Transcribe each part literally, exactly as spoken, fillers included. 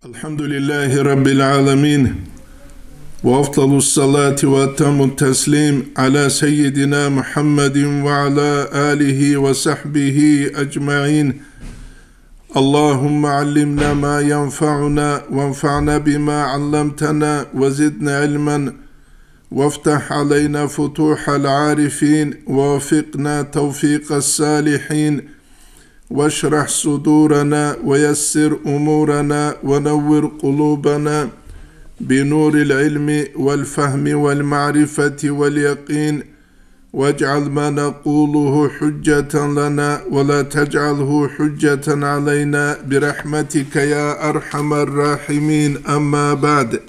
الحمد لله رب العالمين، وأفضل الصلاة وأتم التسليم على سيدنا محمد وعلى آله وصحبه أجمعين. اللهم علمنا ما ينفعنا وانفعنا بما علمتنا وزدنا علما وافتح علينا فتوح العارفين ووفقنا توفيق الصالحين واشرح صدورنا ويسر أمورنا ونور قلوبنا بنور العلم والفهم والمعرفة واليقين واجعل ما نقوله حجة لنا ولا تجعله حجة علينا برحمتك يا أرحم الراحمين. أما بعد.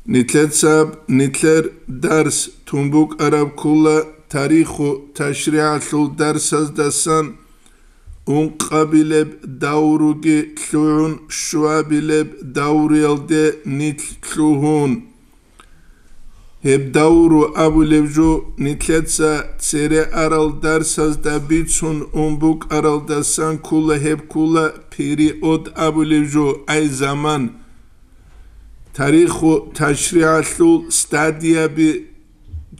Нилъецаб нилъер дарс тун букӀараб ккола тариху ташригӀалъул дарсаздасан ункъабилеб давруги лъугӀун щуабилеб давруялде нилъ лъугьун. Гьеб давру абулеб жо нилъеца цере арал дарсазда бицун ун букӀаралдасан ккола, гьеб ккола период абулеб жо, ай заман. Тариху ташригӀалъул стадияби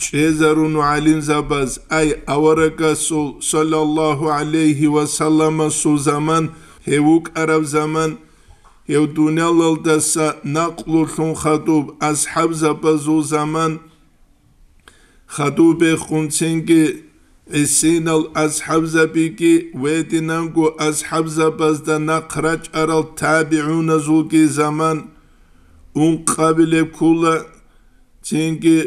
чӀезарун гӀалимзабаз, ай аварагасул саллаллагьу гӀалайгьи ва салламасул заман, гьев вукӀараб заман, гьев дуниялалдаса накълулъун хадуб асхӀабзабазул заман, хадубехун цинги гӀисинал асхӀабзабиги, гьединанго асхӀабзабазда нахъ рачӀарал табигӀуназулги заман, ункъабилеб ккола цинги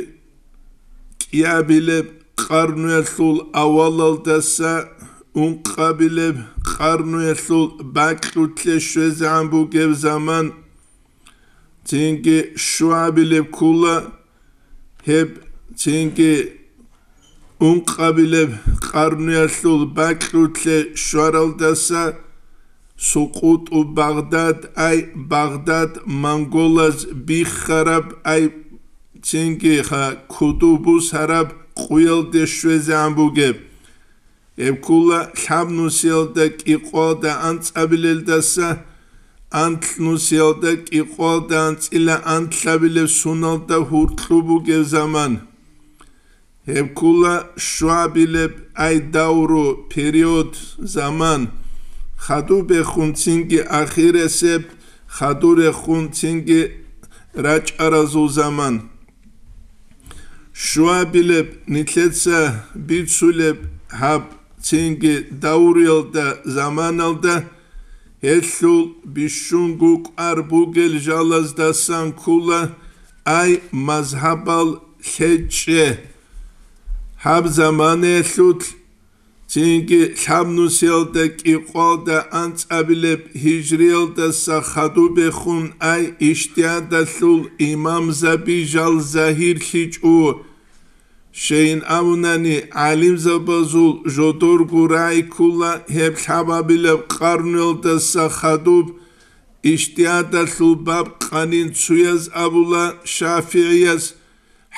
кӀиабилеб къарнуялъул авалалдаса ункъабилеб къарнуялъул бакьулъе щвезегӀан бугеб заман, цинги щуабилеб ккола гьеб, цинги ункъабилеб къарнуялъул бакьулъе щваралдаса сукъуту Багъдад, ай Багъдад монголаз биххараб, ай цинги ха куду бусараб къуялде щвезегӀан бугеб. Гьеб ккола лъабнусиялда кӀикъоялда анцӀабилелдаса анлънусиялда кӀикъоялда анцӀила анлъабилеб суналда гьуркьу бугеб заман. Гьеб ккола щуабилеб ай давру, период, заман, хадубехун цинги ахиресеб, хадурехун цинги рачӀаразул заман. Щуабилеб нилъеца бицулеб гьаб цинги давруялда, заманалда, гьелъул бищунго кӀвар бугел жалаздасан ккола ай мазгьабал лъечӀчӀе. Гьаб заманаялъулъ цинги лъабнусиялда кӀикъоялда анцӀабилеб гьижриялдаса хадубехун ай ижтигьадалъул имамзаби жал загьирлъичӀо. Щайин абунани, гӀалимзабазул жодорго рагӀи ккола гьеб лъабабилеб къарнуялдаса хадуб ижтигьадалъул баб къанин цуяз абула шафигӀияз,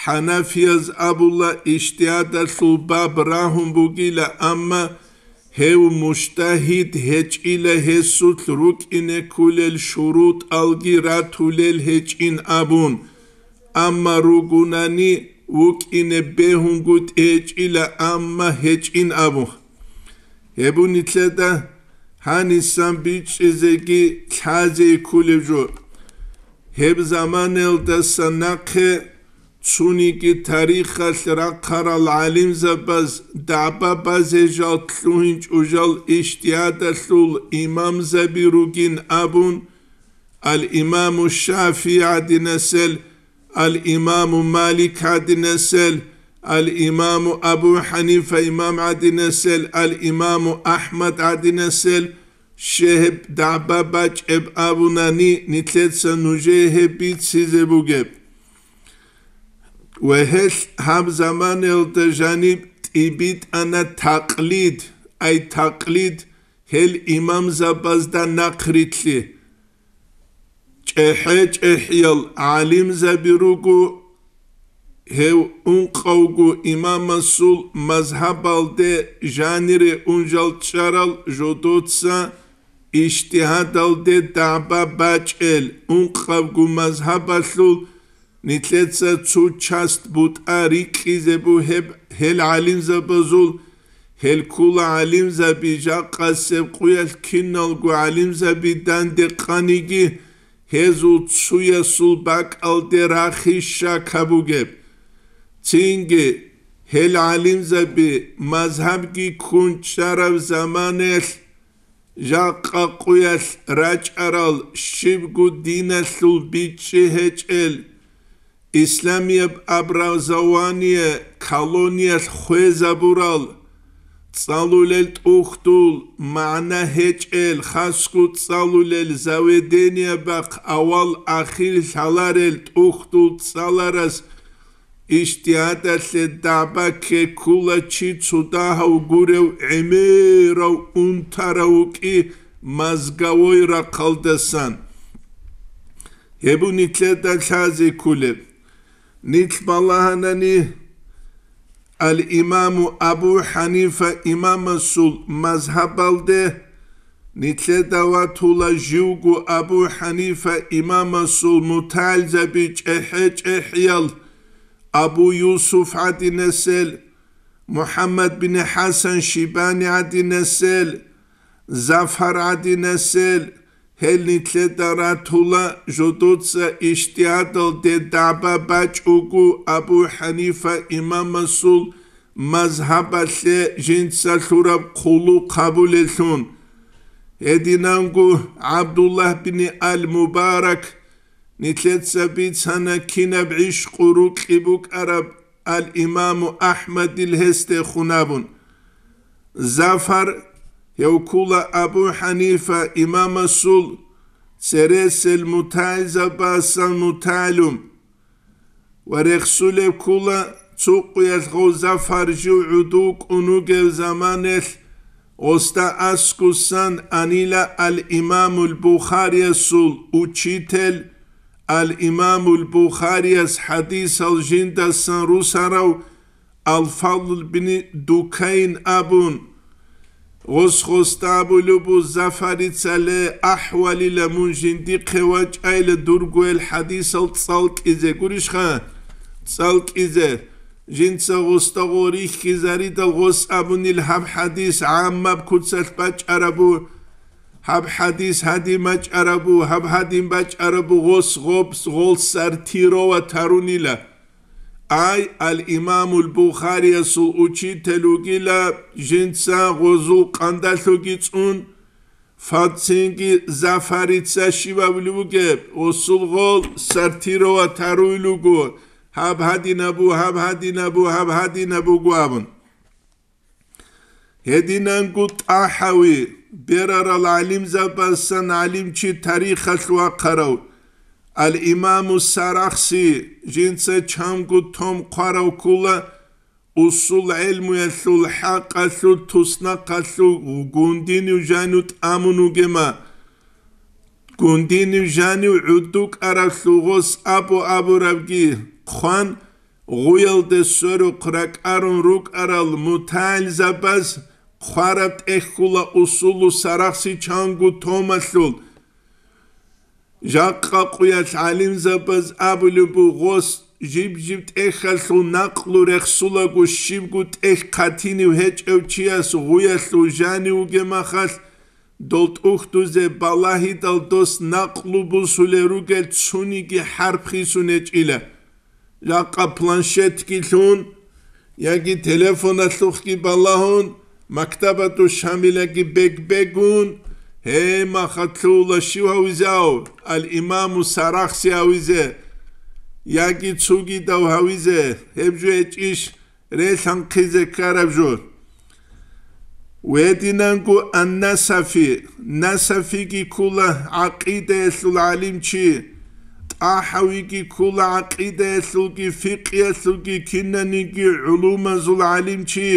хӀанафияз абула ижтигьадалъул баб рагьун бугила, амма гьев мужтагьид гьечӀила гьесулъ рукӀине кколел шурутӀалги ратулел гьечӀин абун, амма ругунани вукӀине бегьунгутӀи гьечӀила, амма гьечӀин абун. Гьеб нилъеда гьанисан бичӀчӀизеги лъазе кколеб жо. Гьеб заманаялдаса нахъе цониги тарихалъ рахъарал гӀалимзабаз дагӀба базе жал лъугьинчӀо жал ижтигьадалъул имамзаби ругин абун, ал-Имаму ШафигӀи гӀадинасел, ал-Имаму Малик гӀадинасел, ал-Имаму Абу ХӀанифа имам гӀадинасел, ал-Имаму АхӀмад гӀадинасел, щегьеб дагӀба бачӀеб абунани, нилъеца нужее гьеб бицизе бугеб. Ва гьелъ гьаб заманаялда жаниб тӀибитӀана такълид, ай такълид, гьел имамзабазда нахърилълъи. ЧӀехӀе-чӀехӀиял гӀалимзаби руго, гьев ункъавго имамасул мазгьабалде жанире унжал чӀарал жодоца ижтигьадалде дагӀба бачӀел ункъабго мазгьабалъул нилъеца цо часть бутӀа рикьизе бугеб гьел гӀалимзабазул, гьел ккула гӀалимзаби жакъасеб къуялъ киналго гӀалимзаби данде къаниги, гьезул цуясул бакӀалде рахи щака бугеб. Цинги, гьел гӀалимзаби мазгьабги ккун чӀараб заманаялъ жакъа къуялъ рачӀарал щибго диналъул бичӀчӀи гьечӀел, исламияб образование колониялъ хвезабурал, цӀалулел тӀухьдул магӀна гьечӀел, хасго цӀалулел заведениябахъ авал-ахир лъаларел тӀухьдул цӀаларас ижтигьадалъе дагӀба ккеккула чи цо дагьав гурев гӀемерав унтарав вукӀи мозговой рахъалдасан. Гьеб нилъеда лъазе кколеб. Нилъ балагьанани ал-Имаму Абу Ханифа имамасул мазгьабалде, нилъеда ватула живго Абу Ханифа имамасул мутагӀилзаби чӀехӀе-чӀехӀиял, Абу Юсуф гӀадинасел, МухӀаммад бин ХӀасан Шибани гӀадинасел, Зафар гӀадинасел, гьел нилъеда ратула жодоца ижтигьадалде дагӀба бачӀого Абу Ханифа имамасул мазгьабалъе жинца лъураб хъулухъ гьабулеллъун. Гьединанго ГӀабдуллагь бин ал-Мубарак, нилъеца бицана кинаб гӀишкъу рукьи букӀараб ал-Имаму АхӀмадил гьесде хун абун. Зафар, гьев ккула Абу Ханифа имамасул цересел мутагӀилзабасан мутагӀилум ва рехсулеб ккула цо къуялъ гъов Зафар жив гӀодов кӀун вугев заманалъ, гъосда аскусан анила ал-Имамул Бухариясул учитель, ал-Имамул Бухарияс хӀадисал жиндасан русарав Ал-Фадл бин Дукайн абун, гъос-гъосда абулеб бу Зафарицале ахӀвалила мун жиндихъе вачӀайла дургоял хӀадисал цӀалкӀизе гурищха? ЦӀалкӀизе. Жинца гъосда гъо рихьизаридал гъос абунил гьаб хӀадис гӀаммаб куцалъ бачӀарабу, гьаб хӀадис гьадин бачӀарабу, гьаб гьадин бачӀарабу гъос гъобс гъол сортировать гьарунила. Ай, ал-Имамул Бухариясул учитель вугила, жинца гъозул къандалъуги цӀун, фацинги Зафарица щибабли вугеб, гъосул гъол сортировать гьаруй луго, гьаб гьадинабу, гьаб гьадинабу, гьаб гьадинабуго абун. Гьединанго ТӀахӀави, берарал гӀалимзабазсан гӀалимчи тарихалъ вахъарав, ал-Имаму Сарахси, жинца чанго том хъварав ккула, усул гӀелмуялъул хӀакъалъулъ туснахъалъув гундинив жанив тӀамун вугема. Гундинив жанив гӀудукӀаравлъул гъос абу-абурабги хъван, гъуялде сверухъ ракӀарун рукӀарал мутагӀилзабаз хъвараб тӀехьула усулу Сарахси чанго томалъул. Жакъа къуялъ гӀалимзабаз абулеб бугъос, жиб-жиб тӀехьалъул накълу рехсулаго щибго тӀехь хъатинив гьечӀев чияс гъуялъул жанив вугемахалъ, дол тӀухьдузе балагьидал дос накълу бусулел ругел цуниги хӀарп хисун гьечӀила. Жакъа планшетги лъун, яги телефоналъухъги балагьун, мактабату Шамилаги бег-бегун, гьей, махалъула щив гьавизав, ал-Имаму Сарахси гьавизе, яги цугидав гьавизе, гьеб жо гьечӀищ релъанхъизе ккараб жо. Гьединанго ан-Насафи, Насафиги ккула гӀакъидаялъул гӀалимчи, ТӀахӀавиги ккула гӀакъидаялъулги фикъиялъулги кинаниги гӀулумазул гӀалимчи,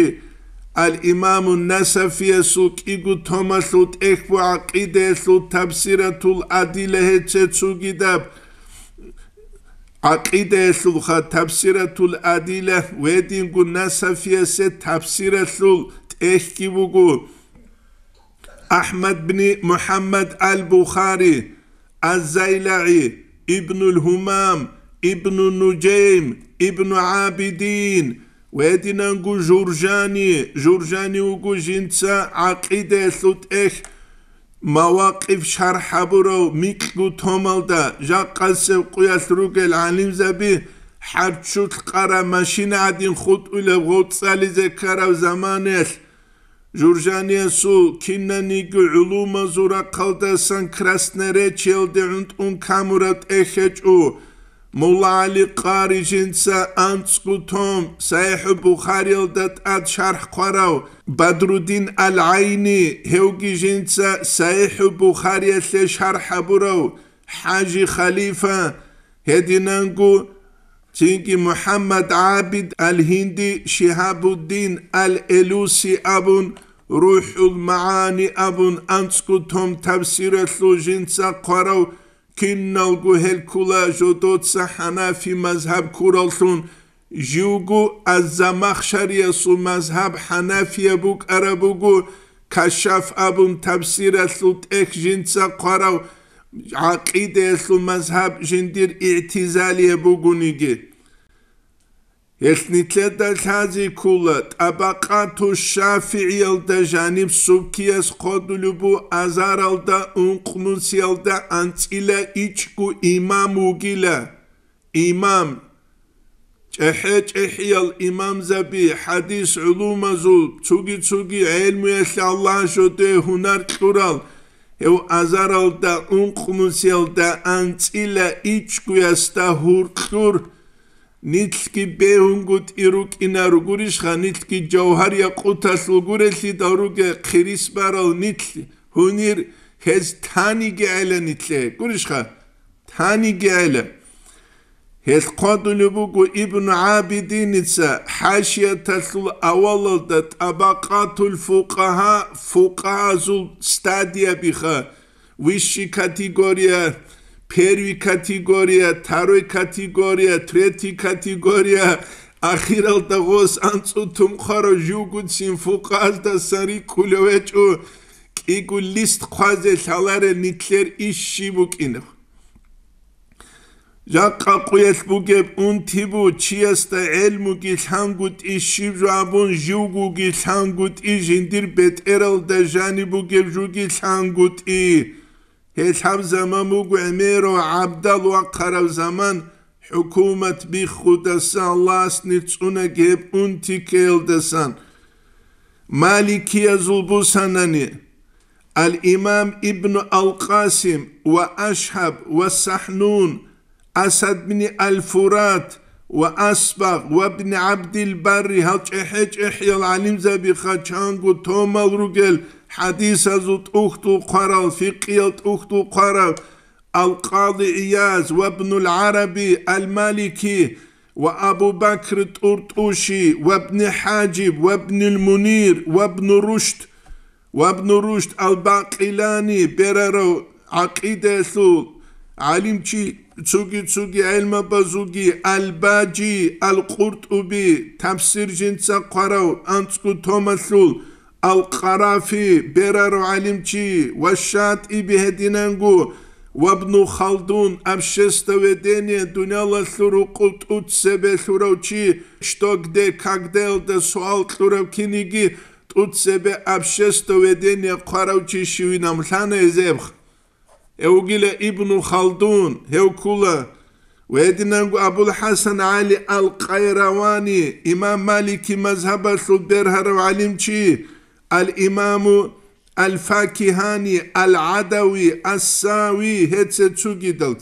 ал-Имаму Насафиясул кӀиго томалъул тӀехь бу гӀакъидаялъул Табсиратул Адила гьечӀеб цугидаб. ГӀакъидаялъулха Табсиратул Адила гьединго Насафиясе табсиралъул тӀехьги буго. Ахмад бни Мухаммад ал-Бухари, аз-ЗайлагӀи, Ибнул Гьумам, Ибну Нужайм, Ибну ГӀабидин ва гьединанго Журжани. Журжани вуго жинца гӀакъидаялъул тӀехь Мавакъиф шархӀ гьабурав микьгу томалда, жакъасеб къуялъ ругел гӀалимзаби хӀарччулъ къараб машина гӀадин хутӀулеб гъоцӀализе ккараб заманаялъ, Журжаниясул кинаниги гӀулумазул рахъалдасан Красноречиялде гӀунтӀун камураб тӀехь гьечӀо. Мулла ГӀали Къари жинца анцӀго том СахӀихӀу Бухариялда тӀад шархӀ хъварав, Бадруддин ал-ГӀайни, гьевги жинца СахӀихӀу Бухариялъе шархӀ гьабурав, ХӀажи Халифа, гьединанго цинги МухӀаммад ГӀабид ал-Гьинди, Шигьабуддин ал-Элуси абун, РухӀул МагӀани абун анцӀго том тафсиралъул жинца хъварав, киналго гьел ккула жодоца хӀанафи мазгьаб ккураллъун, живго аз-Замахшариясул мазгьаб хӀанафияб букӀараб буго, Кашаф абун тафсиралъул тӀехь жинца хъварав, гӀакъидаялъул мазгьаб жиндир игӀтизалияб бугониги. Гьелъ нилъеда лъази ккула, ТӀабакъату ШафигӀиялда жаниб субкияс хъодулеб бу азаралда ункънусиялда анцӀила ичӀго имам вугила. Имам, чӀехӀе-чӀехӀиял имамзаби, хӀадис гӀулумазул, цуги-цуги гӀелмуялъе Аллагь жодое гьунар кьурал, гьев азаралда ункънусиялда анцӀила ичӀгоясда гьуркьур, нилъги бегьунгутӀи рукӀинаро гурищха, нилъги жавгьар-якъуталъул гурелъидал руге хъирис барал нилъ гьунир, гьез таниги гӀела нилъе, гурищха, таниги гӀела. Гьелъ хъвадулеб буго Ибну ГӀабидиница хӀашияталъул авалалда ТӀабакъатул фукъагьа, фукъагьазул стадиябиха, высший категория, первый категория, второй категория, третий категория, ахиралда гъос анцӀу тумхъарав живгуцин фукъаздасан рикӀкӀулев гьечӀо, кӀиго лист хъвазе лъаларел нилъер иш щиб букӀинаб. Жакъа къуялъ бугеб унти бу, чиясда гӀелмуги лъангутӀи, щиб жо абун живгоги лъангутӀи, жиндир бетӀералда жаниб бугеб жуги лъангутӀи. Гьелъ гьаб заман буго гӀемерав гӀабдал вахъараб заман, хӀукумат биххудасан Аллагьас нир цӀунаги гьеб унти ккеялдасан. Маликиязул бусанани, ал-Имам Ибну ал-Къасим ва Ашгьаб ва Сахнун, Асад бни ал-Фурат ва Асбагъ ва бни ГӀабдил-Барри, гьал чӀехӀе-чӀехӀиял гӀалимзабиха чанго томал ругел, хӀадисазул тӀухьдул хъварал, фикъиял тӀухьдул хъварал, ал-Къади ГӀияз ва бнул ГӀараби ал-Малики ва Абу Бакр ТӀуртӀуши ва бни ХӀажиб ва бнил Мунир ва бну Рушд, ва бну Рушд ал-Бакъилани берарав гӀакъидаялъул гӀалимчи, цуги-цуги гӀелмабазулги, ал-Бажи, ал-КъуртӀуби, тафсир жинца хъварав анцӀго томалъул, ал-Къарафи берарав гӀалимчи ва ШатӀиби гьединанго, ва бну Халдун, обществоведение, дуниялалъул рукъу тӀуцебе лъурав чи, что, где, когда-ялда суал кьурав киниги, тӀуцебе обществоведение хъварав чи щивинаб лъана гьезеб. Гьев вугила Ибну Халдун, гьев ккула. Ва гьединанго Абул-ХӀасан ГӀали ал-Къайравани, имам Малики мазгьабалъул бергьарав гӀалимчи, ал-Имаму ал-Факигьани, ал-ГӀадави, ас-Сави, гьеце цугидал.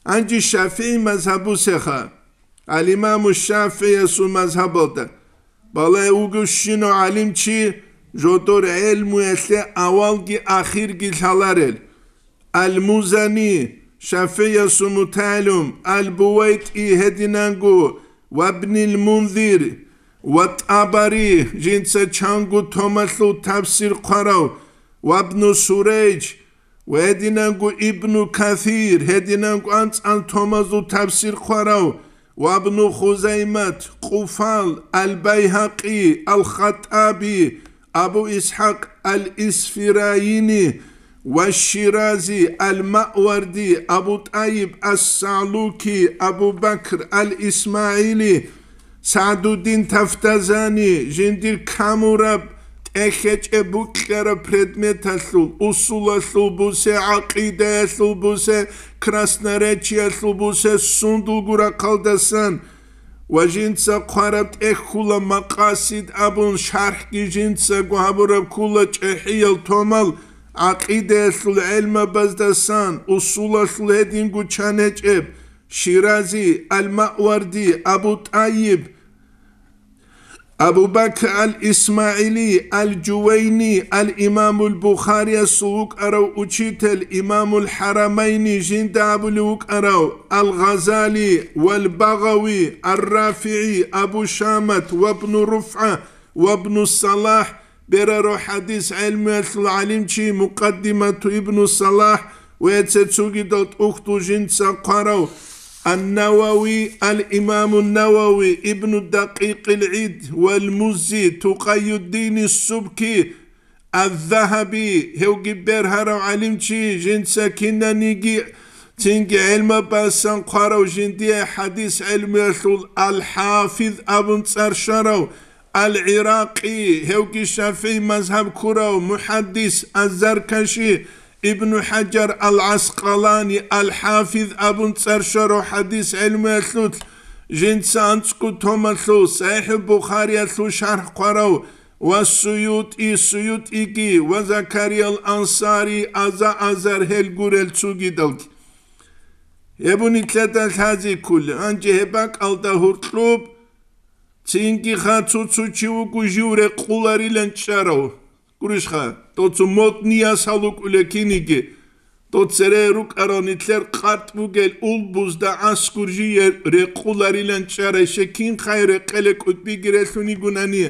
Гьанже ШафигӀи мазгьабусеха, ал-Имаму ШафигӀиясул мазгьабалда балай вугевщинав гӀалимчи жодор гӀелмуялъе авалги ахирги лъаларел, ал-Музани, ШафигӀиясул мутагӀилум, ал-БувайтӀи гьединанго, ва бнил Мунзир, ва ТӀабари, жинца чанго томалъул тафсир хъварав, ва бну Сурайж, ва гьединанго Ибну Касир, гьединанго анцӀан томазул тафсир хъварав, ва Ибну Хузаймат, Къуфал, Ал-Байгьакъи, Ал-ХаттӀаби, Абу Исхьакъ ал-Исфирайини ва Ширази, ал-Маъварди, Абу ТӀайиб ас-Сагьлуки, Абу Бакр ал-ИсмагӀили, СагӀдуддин Тафтазани, жиндир камураб, тӀехьечӀеб букьараб предметалъул, усулалъул бусе, гӀакъидаялъул бусе, красноречиялъул бусе, сундулго рахъалдасан ва жинца хъвараб тӀехьула Макъасид абун, шархӀги жинцаго гьабураб ккула чӀехӀиял томал, гӀакъидаялъул гӀелмабаздасан, усулалъул гьединго чан гьечӀеб, Ширази, ал-Маъварди, Абу ТӀайиб, Абу Бакр ал-ИсмагӀили, ал-Жувайни, ал-Имамул Бухариясул вукӀарав учитель, Имамул ХӀарамайни жинда абулев вукӀарав, ал-Гъазали, вал-Багъави, ар-РафигӀи, Абу Шамат, вабну РуфгӀа, вабну Салахь, берарав хӀадис гӀелмуялъул гӀалимчи, Мукъаддимату Ибну Салахь ва цецугидал тӀухьдул жинца хъварав, ан-Навави, ал-Имаму Навави, Ибну Дакъикъил ГӀид, вал-Муззи, Тукъайюддини Субки, аз-Загьаби, гьевги бергьарав гӀалимчи, жинца кинаниги цинги гӀелмабасан хъварав, жиндие хӀадис гӀелмуялъул ал-ХӀафиз абун цӀар щварав, ал-ГӀиракъи, гьевги ШафигӀи мазгьаб ккурав мухӀаддис, аз-Заркаши, Ибну ХӀажар ал-ГӀаскъалани, ал-ХӀафиз абун цӀар щварав хӀадис гӀелмуялъулъ, жинца анцӀго томалъул СахӀихӀул Бухариялъул шархӀ хъварав, ва СуютӀи, СуютӀиги, ва Закариял Ансари, аза-азар гьел гурел цугидалги. Гьеб нилъеда лъазе кколеб, гьанже гьеб бакӀалда гьоркьоб, цинги ха цо-цо чи вуго жив рекъуларилан чӀарав. Гурищха, доцун модный ясал вукӀулев киниги, дол цере рукӀарал нилъер къватӀ бугел улбузда аскӀур жие рекъуларилан чӀарай, щекин хай рекъеле кӀудбиги релълъун йигунани,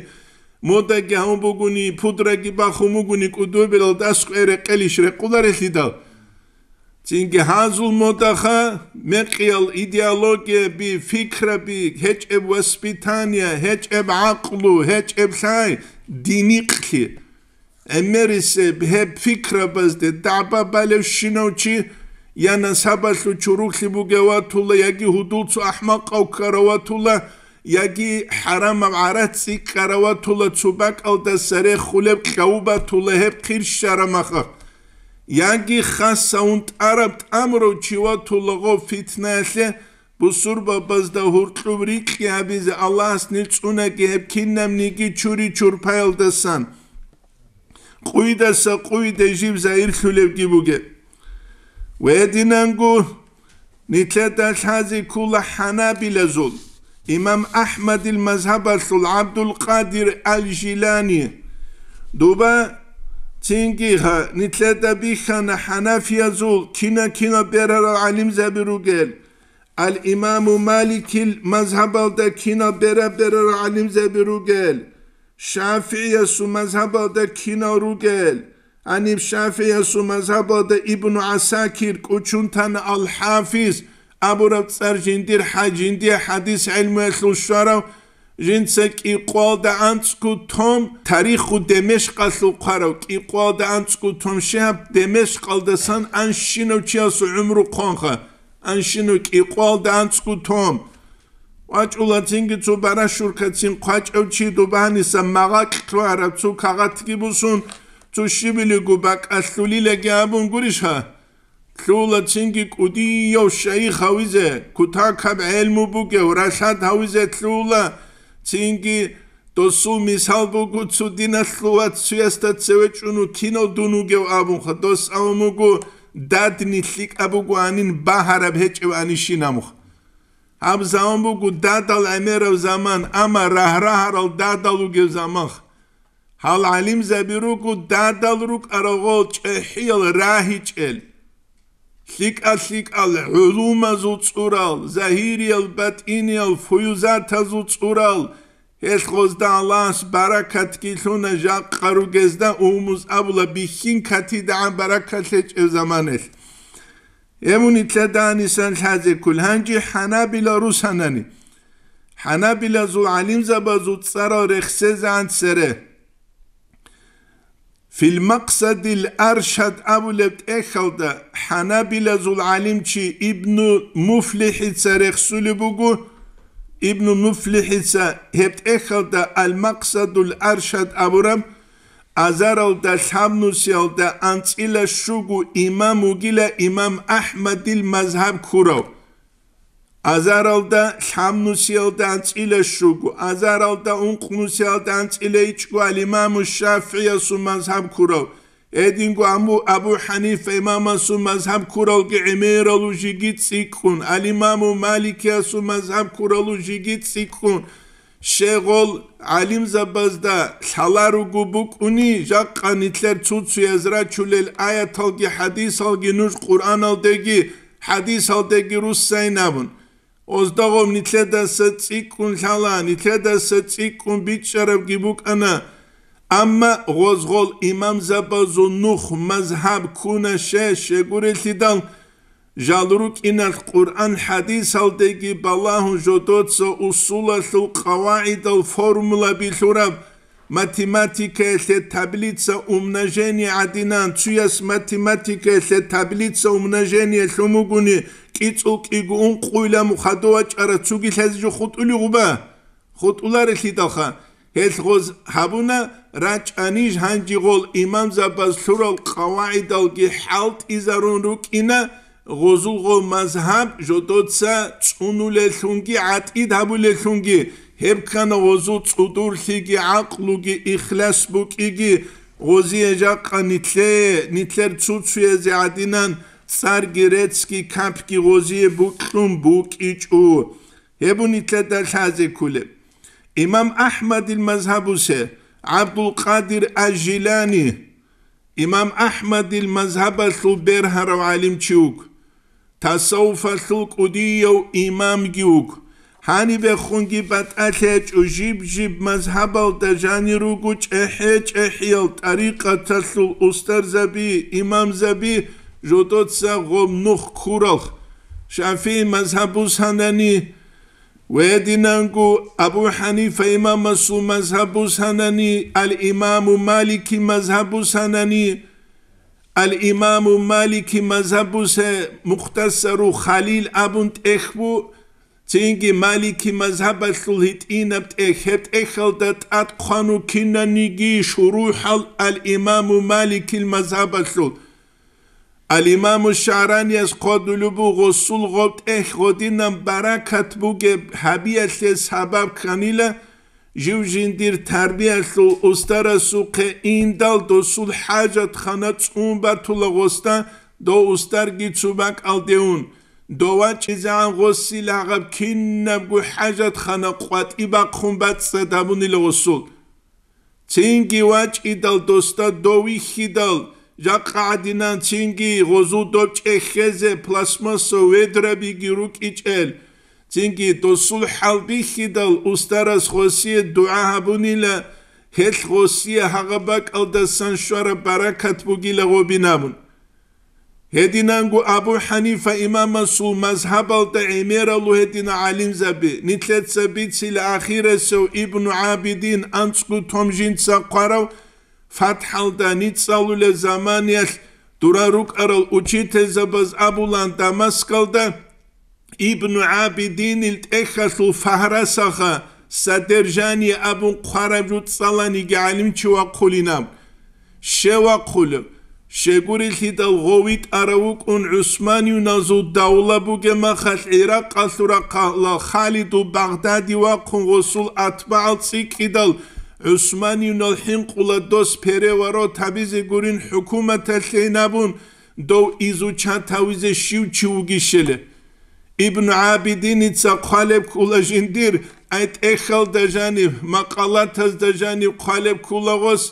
модаги гьавун бугони, пудраги бахун бугони, кӀудобелалда аскӀве рекъелищ рекъуларелъидал? Цинги гьазул модаха мекъиял идеологияби, фикраби, гьечӀеб воспитание, гьечӀеб гӀакълу, гьечӀеб лъай, динихълъи. ГӀемерисеб гьеб фикрабазде дагӀба балевщинав чи я насабалъул чуруклъи бугев ватула, яги гьудул цо ахӀмакъав ккарав ватула, яги хӀарамаб гӀарац цӀикӀкӀарав ватула, цо бакӀалдаса рехулеб кьаву батула гьеб хъир щарамаха. Яги хас авун тӀараб тӀамурав чи ватулаго фитнаялъе, бусурбабазда гьуркьуб рикьи гьабизе Аллагьас нил цӀунаги гьеб кинабниги чури-чурпаялдасан, къуйдаса къуйде жив загьирлъулевги бугеб. Гьединанго нилъеда лъазе ккола хӀанабилазул, имам АхӀмадил мазгьабалъул ГӀабдул-Къадир ал-Жилани. Доба цинги гьа нилъеда бихьана хӀанафиязул кина-кина берарал гӀалимзаби ругел, ал-имаму Маликил мазгьабалда кина бера-берарал гӀалимзаби ругел, ШафигӀиясул мазгьабалда кинал ругел, гьаниб ШафигӀиясул мазгьабалда Ибну ГӀасакир кӀучун тана, ал-ХӀафиз абураб цӀар жиндир хӀа-, жиндие хӀадис гӀелмуялъул щварав, жинца кӀикъоялда анцӀго том, тариху Демешкъалъул хъварав, кӀикъоялда анцӀго том Шигьаб Демешкъалдасан анщинав чиясул гӀумру хъванха, анщинав кӀикъоялда анцӀго том. ВачӀула цинги цо барашуркацин хъвачӀав чи, доба гьаниса магъакь лъугьараб цо кагъатги бусун, цо щибилиго бакӀалъулилаги абун гурищ гьа? Лъугьула цинги кӀудияв шайих гьавизе, кутакаб гӀелму бугев, ралъад гьавизе лъугьула цинги. Досул мисал буго, цо диналъул вац цуясда цеве чӀун вукинав дун вугев абунха, дос абун буго, дадни лъикӀаб бугоанин, багьараб гьечӀеб анищин абунха. Гьаб заман буго дадал гӀемерав заман, амма рагь-рагьарал дадал вугев заманха. Гьал гӀалимзаби руго дадал рукӀарал гъол чӀехӀиял рагьичӀел, лъикӀа-лъикӀал гӀулумазул цӀурал, загьириял, батӀиниял, фуюзатазул цӀурал, гьелъ гъозда Аллагьас баракатги лъуна, жакъа ругезда умумуз абула бихьин катидагӀан баракат лъечӀеб заманалъ. Гьеб нилъеда гьанисан лъазе ккол, гьанже хӀанабила русанани. ХӀанабилазул гӀалимзабазул цӀарал рехсезегӀан цере. Фил Макъсадил Аршад абулеб тӀехьалда хӀанабилазул гӀалимчи Ибну МуфлихӀица рехсулеб буго. Ибну МуфлихӀица гьеб тӀехьалда Ал-Макъсадул Аршад абураб азаралда лъабнусиялда анцӀила щуго имам вугила имам АхӀмадил мазгьаб ккурав. Азаралда лъабнусиялда анцӀила щуго, азаралда ункънусиялда анцӀила ичӀго ал-Имаму ШафигӀиясул мазгьаб ккурав, гьединго Абу, Абу ХӀанифа имамасул мазгьаб ккуралги гӀемералу жиги цӀикӀкӀун, ал-Имаму Маликиясул мазгьаб ккуралу жиги цӀикӀкӀун, щегъол гӀалимзабазда лъаларуго букӀуни, жакъа нилъер цуцуяз рачулел аяталги хӀадисалги нуж Къуръаналдеги, хӀадисалдеги руссайин абун. Оздагъоб нилъедаса цӀикӀкӀун лъала, нилъедаса цӀикӀкӀун бичӀчӀарабги букӀана. Амма гъозгъол имамзабазул нух мазгьаб ккуна, щай, щегурелъидал, жал рукӀиналъ Къуръан хӀадисалдеги балагьун жодоца усулалъул къавагӀидал формулаби лъураб, математикаялъе таблица умножения гӀадинан, цуяс математикаялъе таблица умножения лъун бугони, кӀицӀул кӀиго ункъуйла мухадув вачӀара цуги лъазе жо хутӀулев гъуба? ХутӀуларелъидалха, гьелъ гъоз гьабуна, рачӀаниж гьанжи гъол имамзабаз лъурал къавагӀидалги хӀалтӀизарун рукӀина, гъозулго мазгьаб жодоца цӀунулеллъунги гӀатӀид гьабулеллъунги, гьеб ккана гъозул цӀудурлъиги гӀакълуги ихлас букӀиги, гъозие жакъа нилъе, нилъер цуцуязе гӀадинан цӀарги реццги капги гъозие букьун букӀичӀо. Гьеб нилъеда лъазе кколеб. Имам АхӀмадил мазгьабусе ГӀабдулкъадир Аж-Жилани, имам АхӀмадил мазгьабалъул бергьарав гӀалимчи вуг, тасаввуфалъул кӀудияв имамги вуг. Гьанибехунги батӀалъи гьечӀо, жиб-жиб мазгьабалда жанир руго чӀехӀе-чӀехӀиял тӀарикъаталъул устарзаби, имамзаби, жодоца гъоб нух ккуралъ. ШафигӀи мазгьаб бусанани, Гьединанго Абу ХӀанифа имамасул мазгьаб бусанани, ал-Имаму Малики мазгьаб бусанани, ал-Имаму Малики мазгьаб бусе Мухтасару Халил абун тӀехь бу, цинги Малики мазгьабалъул гьитӀинаб тӀехь, гьеб тӀехьалда тӀад хъвану кинаниги шурухӀал ал-Имаму Маликил мазгьабалъул. Ал-Имаму ШагӀранияс хъвадулеб буго, гъосул гъоб тӀехь гъодинан баракат бугеб гьабиялъе сабаб кканила, жив жиндир тарбиялъул устарасухъе индал досул хӀажатхана цӀун батула гъосда, дов устарги цо бакӀалде ун, дов вачӀизегӀан гъосил гьагъаб кинабго хӀажатхана къватӀи бахъун бацӀцӀад гьабунила гъосул. Цинги вачӀидал досда дов вихьидал, жакъа гӀадинан цинги гъозул доб чӀехьезе пластмассо ведрабиги рукӀичӀел, цинги досул хӀал бихьидал, устарас гъосие дугӀа гьабунила, гьелъ гъосие гьагъа бакӀалдасан щвараб баракат бугила гъобин абун. Гьединанго Абу ХӀанифа имамасул мазгьабалда гӀемералу гьедина гӀалимзаби, нилъеца бицила ахирасев Ибну ГӀабидин анцӀго том жинца хъварав, ФатхӀалда ницӀалулеб заманиялъ дура рукӀарал учительзабаз абулан Дамаскалда, Ибну ГӀабидинил тӀехьалъул фагьрасаха содержание абун хъвараб жо цӀаланиги гӀалимчи вахъулинаб. Щев вахъулеб? Щегурелъидал гъов витӀарав вукӀун ГӀусманиюназул давла бугеб махалъ ГӀиракъалъул рахъалал Халидул Багъдади вахъун гъосул атбагӀал цӀикӀкӀидал ГӀусманиюнал хӀинкъула дос переворот гьабизе гурин хӀукуматалъейин абун, дов изучат гьавизе щив чи вугищали. Ибн ГӀабидиница хъвалеб ккула жиндир, ай тӀехьалда жаниб, макъалатазда жаниб хъвалеб ккула гъос,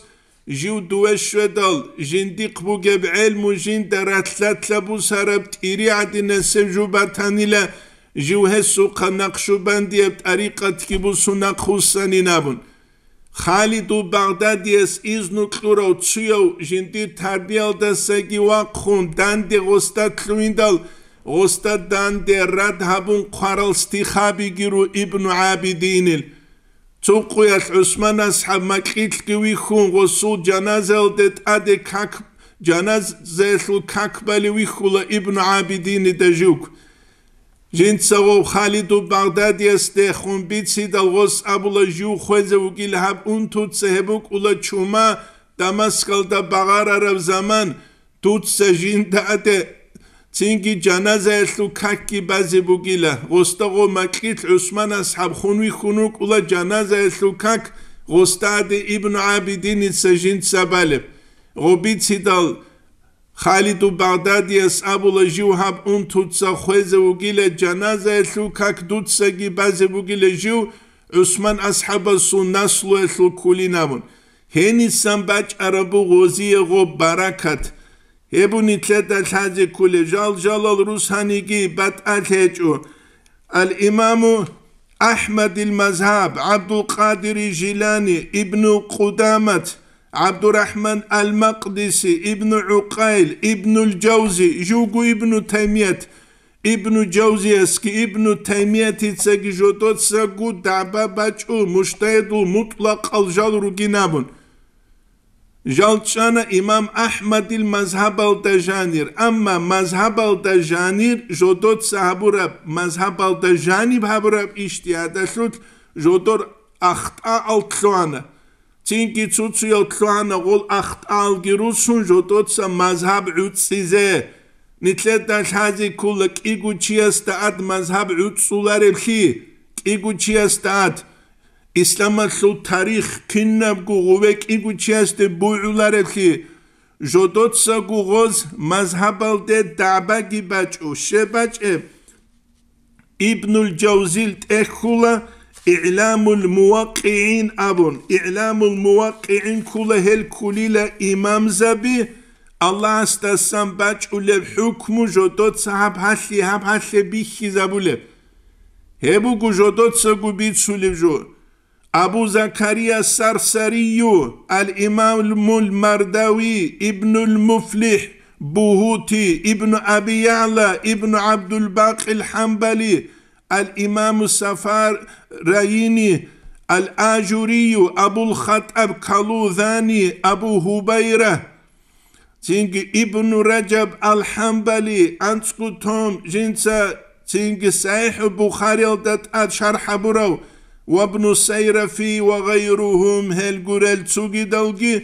жив дуве щведал, жиндихъ бугеб гӀелму жинда ралъ-ралъа бусараб тӀири гӀадинасеб жо батанила, жив гьесухъа накъшубандияб тӀарикъатги бусун нахъвуссанин абун. Халидул Багъдадияс изну кьурав цуяв жиндир тарбиялдасаги вахъун данде гъосда лъугьиндал, гъосда данде рад гьабун хъварал стихабиги ру Ибну ГӀабидинил. Цо къуялъ ГӀусман асхӀаб макьилъги вихьун, гъосул жаназаялде тӀаде как, жаназаялъул как балев вихьула Ибну ГӀабидинида жив. Жинца гъов Халиду Багъдадиясде хун бицидал, гъос абула, жив хвезе вугил гьаб унтуца, гьеб букӀула чума Дамаскалда багъарараб заман, дуца жинда тӀаде цинги жаназаялъул какги базе бугила. Гъосда гъо макьилъ ГӀусман асхӀаб хун вихьун вукӀула жаназаялъул как, гъосда тӀаде Ибну ГӀабидиница жинца балеб. Гъо бицидал, Халиду Багъдадияс абула, жив гьаб унтуца хвезе вугила, жаназаялъул как дуцаги базе бугила, жив ГӀусман асхӀабасул наслуялъул ккулин абун. Гьенисан бачӀараб буго гъозие гъоб баракат. Гьеб нилъеда лъазе кколеб жал-жалал русаниги батӀалъи гьечӀо. Ал-Имаму АхӀмадил мазгьаб, ГӀабдулкъадири Жилани, Ибну Къудамат, ГӀабдурахӀман ал-Макъдиси, Ибну ГӀукъайл, Ибнул Жавзи, жуго Ибну Таймият, Ибну Жавзиясги Ибну Таймиятицаги жодоцаго дагӀба бачӀо, мужтагьидул мутӀлакъал жал ругин абун. Жал чӀана имам АхӀмадил мазгьабалда жанир, амма мазгьабалда жанир жодоца гьабураб, мазгьабалда жаниб гьабураб ижтигьадалъулъ жодор ахтӀаал лъугьана. Цинги цуцуял лъугьана гъол ахтӀаалги русун жодоца мазгьаб гӀуцӀизе. Нилъеда лъазе ккола кӀиго чиясда ад мазгьаб гӀуцӀулареблъи, кӀиго чиясда ад. Исламалъул тарих кинабго гъуве кӀиго чиясде бугӀулареблъи, жодоцаго гъоз мазгьабалде дагӀбаги бачӀо, щеб бачӀеб. Ибнул Жавзил тӀехьула Игьламул МуваккигӀин абун. Игьламул МуваккигӀин ккула, гьел ккулила имамзаби, Аллагьасдасан бачӀулеб хӀукму жодоца гьаб гьалъи, гьаб гьалъе бихьизабулеб. Гьеб буго жодоцаго бицулеб жо. Абу Закария Сарсарию, ал-Имамул Мардави, Ибнул МуфлихӀ, Бугьути, Ибну Аби ЯгӀла, Ибну ГӀабдулбакъил ХӀамбали, ал-Имаму Сафарайини, ал-Ажурию, Абул ХатӀаб Калузани, Абу Гьубайра. Цинги Ибну Раджаб ал-ХӀамбали, анцӀго том, жинца цинги СахӀихӀул Бухариялда тӀад шархӀ гьабурав, ва Ибну Сайрафи ва гъайругьум, гьел гурел цогидалги,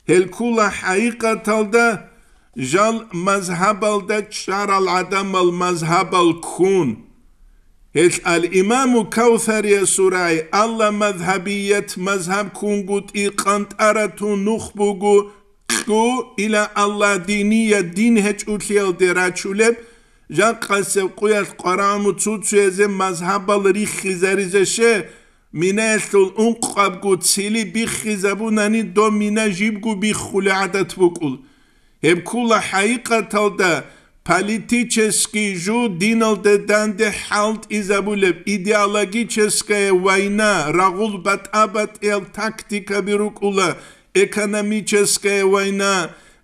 гьел ккула хӀакъикъаталда жал мазгьабалда чӀарал гӀадамал мазгьабал ккун. Гьел ал-Имаму Кавсариясул рагӀи, алла мазгьабият, мазгьаб ккунгутӀи къантӀаратун нух буго, кьу ила Аллагь динияд, дин гьечӀолъиялде рачулеб, жакъасеб къуялъ къварагӀму цуцуязе мазгьабал риххизаризе ше, минаялъул ункъабго цили биххизабунани, доб мина жибго биххулеб гӀадат букӀул. Гьеб ккула хӀакъикъаталда политический жо диналда данде хӀалтӀизабулеб, идеологическая война, рагъул батӀа-батӀиял тактикаби рукӀула, экономическая война,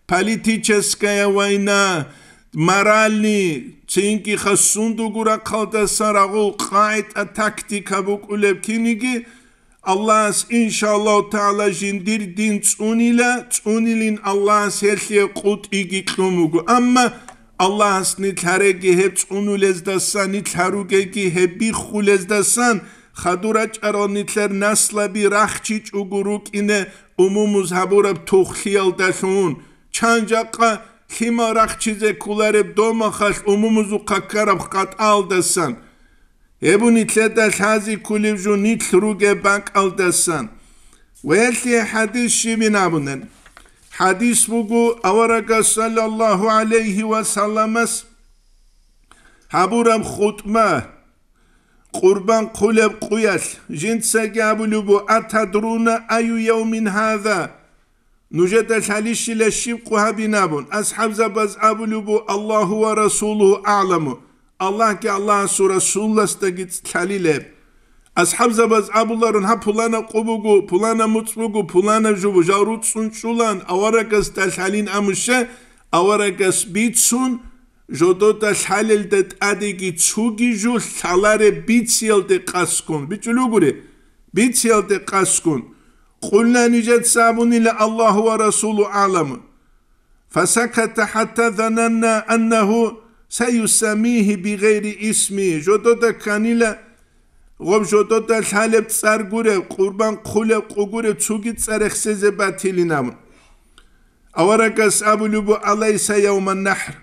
политическая война, моральный, цинги хасун дугу рахъалдасан рагъул къагӀида тактика букӀулеб киниги, Аллагьас, иншааллагьу тагӀала, жиндир дин цӀунила, цӀунилин Аллагьас гьелъие къотӀиги кьун буго. Амма Аллагьас нилъ гьареги гьеб цӀунулездасан, нилъ гьаругеги гьеб биххулездасан, хадур рачӀарал нилъер наслаби рахчичӀого рукӀине умумуз гьабураб тухлъиялдалъун, чан жакъа лъимал рахчизе кколареб домахалъ умумузухъа ккараб къатӀалдасан. Гьеб нилъеда лъазе кколеб жо нилъ ругеб бакӀалдасан. Ва гьелъие хӀадис щибин абунел? ХӀадис буго аварагас саллаллагьу гӀалайгьи ва салламас гьабураб хутӀба, къурбан хъулеб къуялъ, жинцаги абулеб буго: «Атадруна аю явмин гьаза?» Нужеда лъалищила щиб къу гьабин абун, асхӀабзабаз абулеб бу: «Аллагьу ва расулугьу агӀламу», Аллагьги Аллагьасул Расуласдаги лъалилеб. АсхӀабзабаз абуларун: «Гьаб пулана къу буго, пулана муцӀ буго, пулана жо буго», жал руцӀцӀун чӀулан, аварагасда лъалин амуще, аварагас бицун, жодода лъалелда тӀадеги цоги жо лъалареб бициялде къаскун. БичӀулугури. бициялде къасгун, къулна нижеца абунила: «Аллагьу ва расулу аъламу». Фасаката хӀатта зананна аннагьу саюсаммигьи бигъайри исми, жодода кканила, гъоб жодода лъалеб цӀар гуреб, къурбан хъулеб къу гуреб цуги цӀар рехсезе батилин абун. Аварагас абулеб бу: «Алайса явман нахӀр?»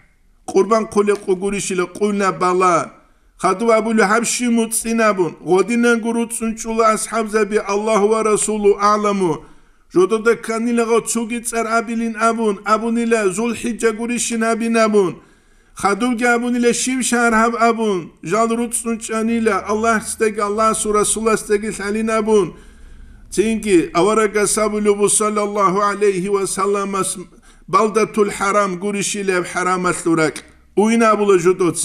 Къурбан хъулеб къу гурищила? Къулна: «Бала». Хадуб абулеб: «Гьаб щив муцӀцӀин?» абун. Гъодинанго руцӀцӀунчӀула асхӀабзаби: «Аллагьу ва расулу аъламу». Жодода кканилаго цуги цӀар абилин абун, абунила: «ЗулхӀиджа гурищин гьабин», абун. Хадубги абунила: «Щив шагьар гьаб?» абун. Жал руцӀцӀун чӀанила, Аллагьасдаги, Аллагьасул Расуласдаги лъалин абун. Цинги аварагас абулеб бу, саллаллагьу гӀалайгьи ва салламас: «Балдатул хӀарам гурищилеб хӀарамалъул ракь». Уйин абула жодоц.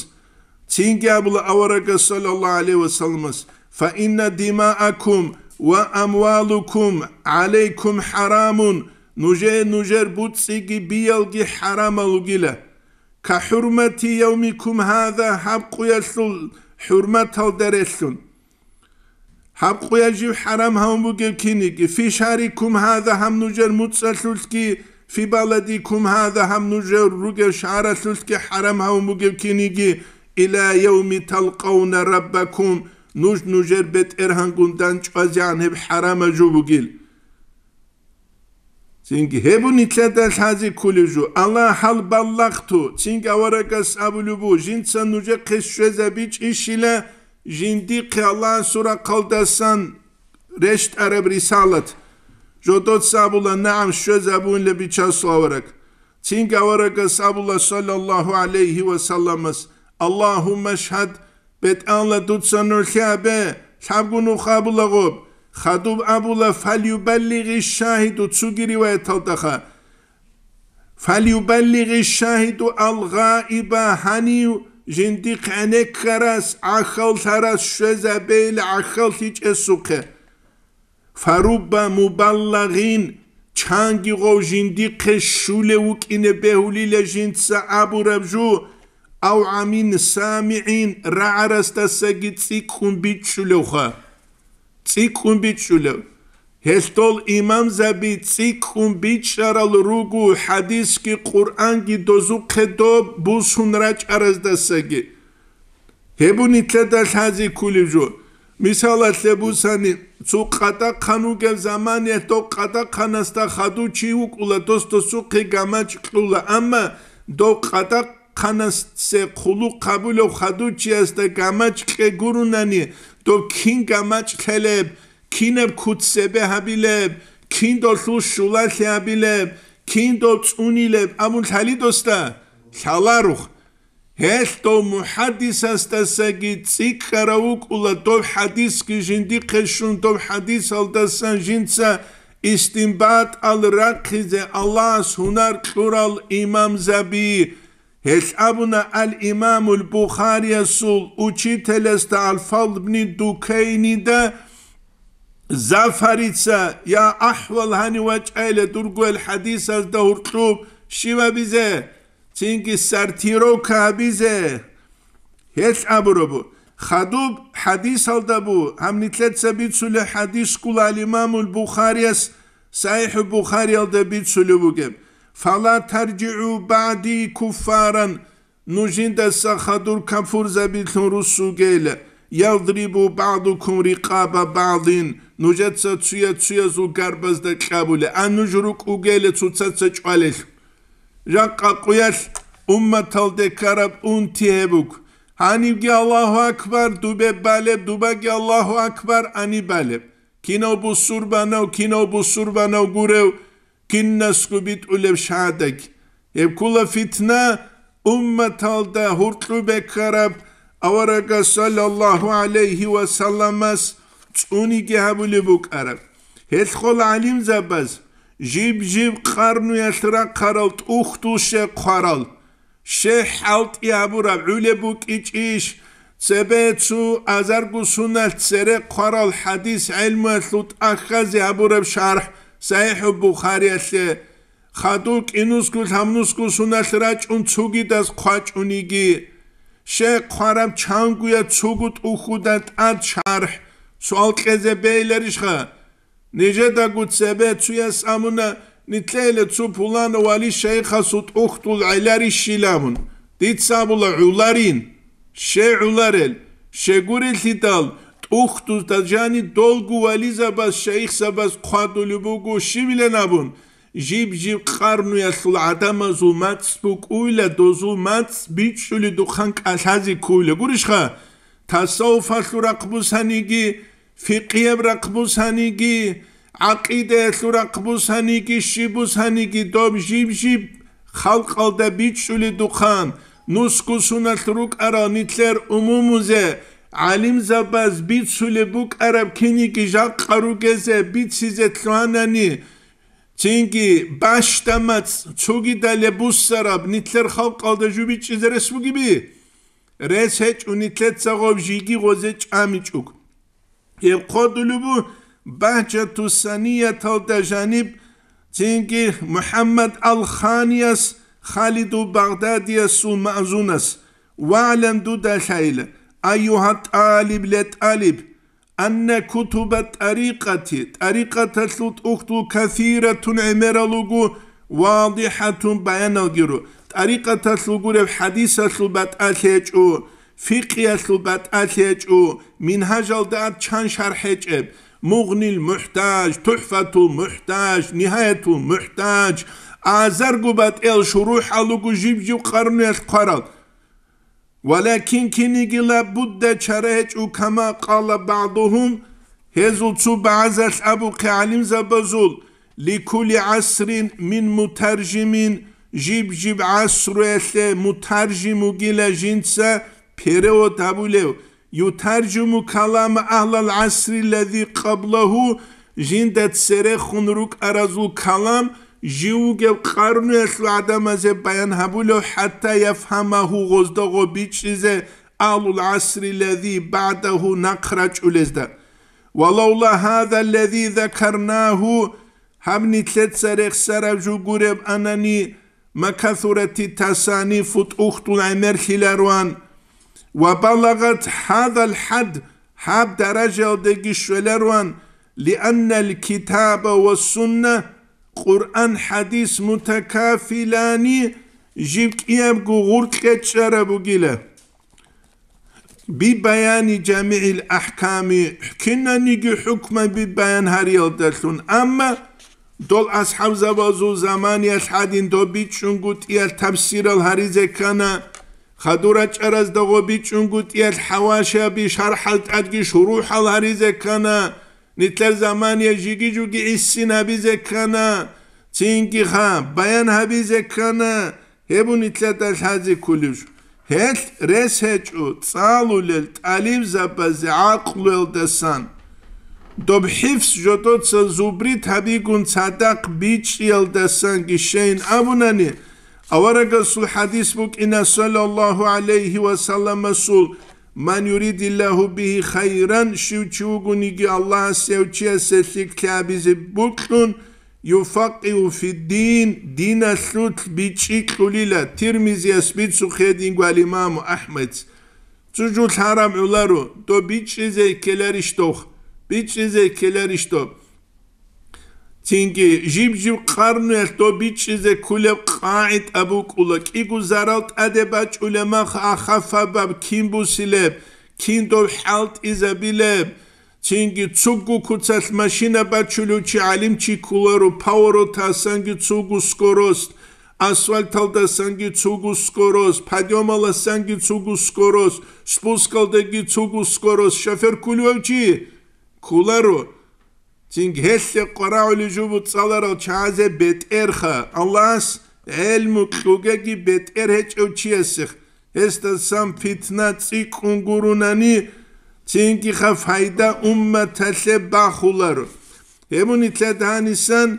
Цинги абула аварагас, саллаллагьу гӀалайгьи ва салламас: «Фа инна димаакум ва амвалукум гӀалайкум хӀарамун», нужее нужер буцӀцӀиги биялги хӀарамал ругила. «Ка хӀурмати явмикум гьаза», гьаб къуялъул хӀурматалда релълъун. Гьаб къуя жив хӀарам гьавун бугев киниги, «фи шагьрикум гьаза», гьаб нужер муцӀалъулъги, «фи баладикум гьаза», гьаб нужер ругев шагьаралъулъги хӀарам гьавун бугев киниги, «иля явми талкъавна раббакум», нуж нужер БетӀергьангун дандчӀвазегӀан гьеб хӀарамаб жо бугил. Цинги гьеб нилъеда лъазе кколеб жо, Аллагь гьал балагьту, цинги аварагас абулеб бу, жинца нужехъе щвезабичӀищила жиндихъе Аллагьасул рахъалдасан рещтӀараб рисалат. Жодоца абула: «НагӀам, щвезабунила, бичасул авараг». Цинги аварагас абула, саллаллагьу гӀалайгьи ва салламас: «Аллагьумма шгьад», БетӀалла, дуца нурлъи абе, лъабго нух абула гъоб. Хадуб абула: «Фалюбаллигъи шагьиду», цуги риваяталдаха: «Фалюбаллигъи шагьиду ал-гъаиба», гьанив жиндихъ гӀенеккарас, гӀахьаллъарас щвезабейила гӀахьаллъичӀесухъе. «Фарубба мубаллагъин», чанги гъов жиндихъе щулев вукӀине бегьулила жинца абураб жо, «ав гӀамин самигӀин», рагӀарасдасаги цӀикӀкӀун бичӀчӀулевха. ЦӀикӀкӀун бичӀчӀулев. Гьелъ дол имамзаби цӀикӀкӀун бичӀчӀарал руго хӀадисги Къуръанги дозухъе доб бусун рачӀараздасаги. Гьеб нилъеда лъазе кколеб жо. Мисалалъе бусани, цо къадахъан вугев заманиялъ дов къадахъанасда хадув чи вукӀула, дос досухъе гамачӀ кьула, амма дов къадахъанасе хъулухъ гьабулев хадув чиясда гамачӀ кье гурунани, дов кин гамачӀ лъелеб, кинаб куц цебе гьабилеб, кин долъул щулалъи гьабилеб, кин дов цӀунилеб абун лъали досда? Лъаларух. Гьелъ дов мухӀаддисасдасаги цӀикӀкӀарав вукӀула, дов хӀадисги жиндихъе щун, дов хӀадисалдасан жинца истинбатӀал рахъизе Аллагьас гьунар кьурал имамзаби. Гьелъ абуна ал-Имамул Бухариясул учителасда ал-Фадл бни Дукайнида, Зафарица, я ахӀвал гьанив вачӀайла дурго эл хӀадисазда гьуркьуб щиб абизе? Цинги сортировка гьабизе. Гьелъ абурабу, хадуб хӀадисалда бу, гьаб нилъеца бицулеб хӀадис ккола ал-Имамул Бухарияс СахӀихӀул Бухариялда бицулеб бугеб: «Фала таржигӀу багӀди куффаран», нуж жиндаса хадур капурзабилъун руссугейла, «ядрибу багӀдукум рикъаба багӀдин», нужеца цуя-цуязул гарбазда кьабуле, а нуж рукӀугейла цоцаца чӀвалелъ. Жакъа къуялъ умматалде ккараб унти гьеб буго. Гьанибги Аллагьу акбар, дубе балеб, дубаги Аллагьу акбар, ани балеб. Кинав бусурбанав, кинав бусурбанав гурев, кинасго битӀулеб шагьадаги. Гьеб ккола фитна, умматалда гьуркьубе ккараб, аварагас саллаллагьу гӀалайгьи ва салламас цӀуниги гьабулеб букӀараб. Гьелъ хъол гӀалимзабаз жиб-жиб къарнуялъ рахъарал тӀухьдул щекъ хъварал, щекъ хӀалтӀи гьабураб гӀулеб букӀичӀищ, цебе цо азарго суналъ цере хъварал хӀадис гӀелмуялъул тӀахьазе гьабураб шархӀ СахӀихӀул Бухариялъе, хадур кӀинусго-лъабнусго суналъ рачӀун цогидаз хъвачӀуниги, щекъ хъвараб чангуя цого тӀухьуда тӀад шархӀ, Суал кьезе бегьиларищха? Нижедаго цебе цуяс абуна, нилъеда цо пуланав вали-шайихасул тӀухьдул гӀеларищилан абун. Дица абула гӀоларин. Щай гӀоларел? Щай гурелъидал, тӀухьдузда жани долго вализабаз, шайихзабаз хъвадулеб буго щибилан абун, жиб-жиб къарнуялъул гӀадамазул мацӀ букӀуйла, дозул мацӀ бичӀчӀуледухъан кӀалъазе ккуйла. Гурищха? Тасаввуфалъул рахъбусаниги, фикъияб рахъбусаниги, гӀакъидаялъул рахъбусаниги, щибусаниги доб жиб-жиб халкъалда бичӀчӀуледухъан, нусго соналъ рукӀарал нилъер умумузе, гӀалимзабаз бицулеб букӀараб киниги жакъа ругезе, бицизе лъугьанани, цинги бащдамацӀ цогидалеб буссараб нилъер халкъалда жубичӀчӀизе рес бугеби? Рес гьечӀо нилъеца гъоб жиги гъозе чӀамичӀого. Гьеб хъодулеб бу Багьчату Санияталда жаниб, цинги МухӀаммад ал-Ханияс, Халидул Багъдадиясул маъзунас, вагӀлам дуда лъайла, айюгьа тӀалиб ле тӀалиб, анна кутуба тӀарикъати, тӀарикъаталъул тӀухьдул касиратун гӀемерал руго, вадихӀатун баяналги ру, тӀарикъаталъул гуреб хӀадисалъул батӀалъи гьечӀо, фикъиялъул батӀалъи гьечӀо, мингьажалда ат чан шархӀ гьечӀеб, Мугънил МухӀтаж, ТухӀфатул МухӀтаж, Нигьаятул МухӀтаж, азарго батӀиял шурухӀал руго жиб-жиб къарнуялъ хъварал. Валакин кинигила будда чара гьечӀо, кама къала багӀдухум, гьезул цо багӀазалъ абухъе гӀалимзабазул, ликулли гӀасрин мин мутаржимин, жиб-жиб гӀасруялъе мутаржим вугила жинца перевод гьабулев, ютаржиму калама агьлал гӀасри лази къаблагьу, жинда церехун рукӀаразул калам жив вугев къарнуялъул гӀадамазе баян гьабулев, хӀатта яфгьамагьу, гъозда гъо бичӀчӀизе, агьлул гӀасри лази багӀдагьу, нахъ рачӀулезда. Ва лавла гьаза лази закарнагьу, гьаб нилъеца рехсараб жо гуреб анани, ма касурати тасанифу, тӀухьдул гӀемерлъиларуан, ва балагъат гьазал хӀад, гьаб даражаялдеги щвеларуан, лианнал китаба ва сунна, Къуръан, хӀадис мутакафилани, жиб кӀиябго гъуркье чӀараб бугила. Би баяни жамигӀил ахӀками, кинаниги хӀукмаби баян гьариялдалъун, амма дол асхӀабзабазул заманиялъ гьадин доб бичӀчӀунгутӀиялъ тафсирал гьаризе ккана, хадур рачӀаразда гъо бичӀчӀунгутӀиялъ хӀавашаби шархӀал тӀадги шурухӀал гьаризе ккана, нилъер замания жиги-жуги гӀисин гьабизе ккана, цинги ха баян гьабизе ккана, гьеб нилъеда лъазе кколеб жо. Гьелъ рес гьечӀо цӀалулел тӀалибзабазе гӀакълуялдасан, доб хӀифз жодоца зубрит гьабигун цадахъ бичӀчӀиялдасанги щейин абунани, аварагасул хӀадис букӀина, саллаллагьу гӀалайгьи ва салламасул, ман юридиллагьу бигьи хайран, щив чи вугониги Аллагьас гьев чиясе лъикӀлъи гьабизе бокьун, юфакъигьу фиддин, диналъулъ бичӀчӀи кьулила. Тирмизияс бицухъе динго ал-имаму АхӀмад. Цо жо лъараб гӀоларо, доб бичӀчӀизе ккеларищ дох? БичӀчӀизе ккеларищ доб? Цинги жиб-жиб къарнуялъ доб бичӀчӀизе кколеб къагӀида букӀула, кӀиго зарал тӀаде бачӀулеб мах ахафабаб кин бусилеб, кин доб хӀалтӀизабилеб? Цинги цугу куцалъ машина бачулев чи гӀалимчи кколаро, поворотасанги цугу скорость, асфальталдасанги цугу скорость, подъёмаласанги цугу скорость, спускалдаги цугу скорость, шофер кколев чи кколаро. Цинги гьелъе къварагӀулев жо буцӀцӀаларал чагӀазе бетӀерха, Аллагьас гӀелму кьугеги бетӀер гьечӀев чиясех. Гьесдасан питна цӀикӀкӀун гурунани, цинги-ха пайда умматалъе бахуларо. Гьеб нилъеда гьанисан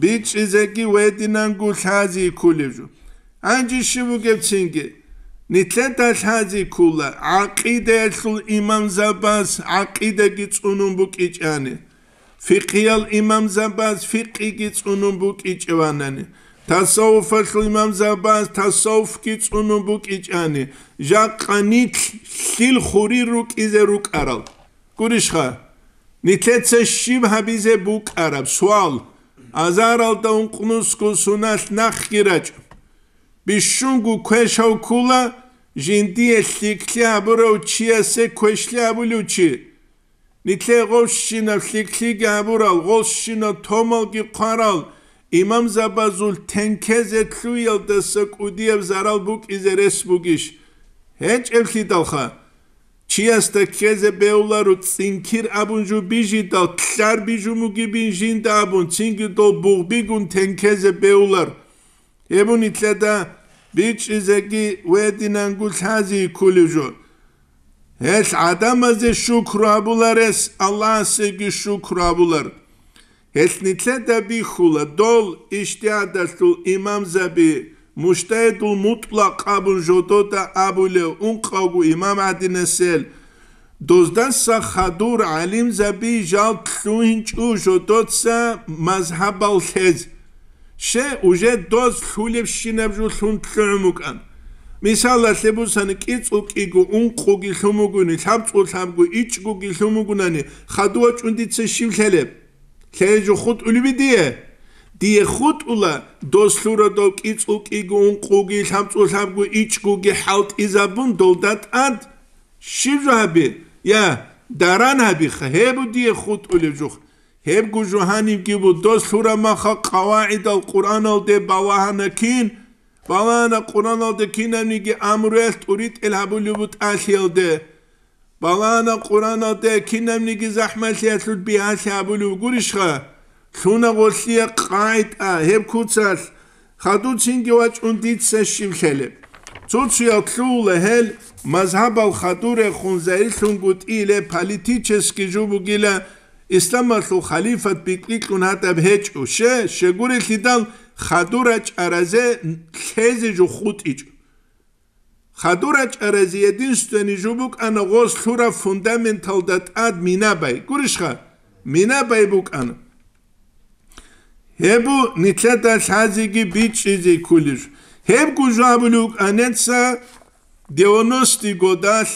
бичӀчӀизеги гьединанго лъазе кколеб жо. Гьанже щиб бугеб цинги? Нилъеда лъазе ккола гӀакъидаялъул имамзабаз гӀакъидаги цӀунун букӀичӀани. Фикъгьиял имамзабаз фикъгьиги цӀунун букӀичӀеванани, тасаввуфалъул имамзабаз тасаввуфги цӀунун букӀичӀани, жакъа нилъ лъил хурир рукӀизе рукӀарал. Гурищха? Нилъеца щиб гьабизе букӀараб? Суал. Азаралда ункънусго суналъ нахъги рачӀ. Бищунго квешав ккула, жиндие лъикӀлъи гьабурав чиясе квешлъи абулев чи. Нилъее гъовщинаб лъикӀлъиги гьабурал, гъолщинаб томалги хъварал, имамзабазул тенкезе лъуялдаса кӀудияб зарал букӀизе рес бугищ? ГьечӀеблъидалха, чиясда ккезе бегьуларо цӀинкир абун жо бижидал, лъар бижун бугебин жинда абун, цинги дол бугъбигун тенкезе бегьулар. Гьеб нилъеда бичӀчӀизеги гьединанго лъази кколев жо. Гьелъ гӀадамазе шукру гьабуларес Аллагьасеги шукру гьабулар. Гьелъ нилъеда бихьула дол ижтигьадалъул имамзаби, мужтагьидул мутӀлакъ абун жодода абулев ункъавго имам гӀадинасел, доздаса хадур гӀалимзаби жал лъугьинчӀо жодоца мазгьабал лъез. Ще, уже доз лъулебщинаб жо лъун лъугӀун букӀан. Мисалалъе бусани, кӀицӀул кӀиго ункъуги лъун бугони, лъабцӀул лъабго ичӀгоги лъун бугунани, хадув вачӀун дица щиб лъелеб? Лъей жо хутӀулеби дие? Дие хутӀула, доз лъурадав кӀицӀул кӀиго ункъуги, лъабцӀул лъабго ичӀгоги хӀалтӀизабун долда тӀад. Щиб жо гьаби? Я, даран гьабиха, гьеб дие хутӀулев жух. Гьебго жо гьанибги бу, доз лъурамаха къавагӀидал Къуръаналде балагьана кин, балагьана Къуръаналде кинабниги амруялъ тӀуритӀел гьабулеб бутӀалъиялде. Балагьана Къуръаналде кинабниги захӀмалъиялъул бигьалъи гьабулев гурищха? Лъуна гъолъие къагӀида гьеб куцалъ, хадуцинги вачӀун дица щиб лъелеб? Цо-цоял лъугьула гьел мазгьабал хадурехун, загьирлъунгутӀийле политический жо бугила, исламалъул халифат бикьбикьун гьадаб гьечӀо, ще, щегурелъидал хадур рачӀаразе лъезе жо хутӀичӀо. Хадур рачӀаразе единственный жо букӀана гъоз лъураб фундаменталда тӀад мина бай. Гурищха? Мина бай букӀана. Гьеб бу нилъеда лъазеги бичӀчӀизе кколеб. Гьебго жо абулев вукӀанеца девяностый годалъ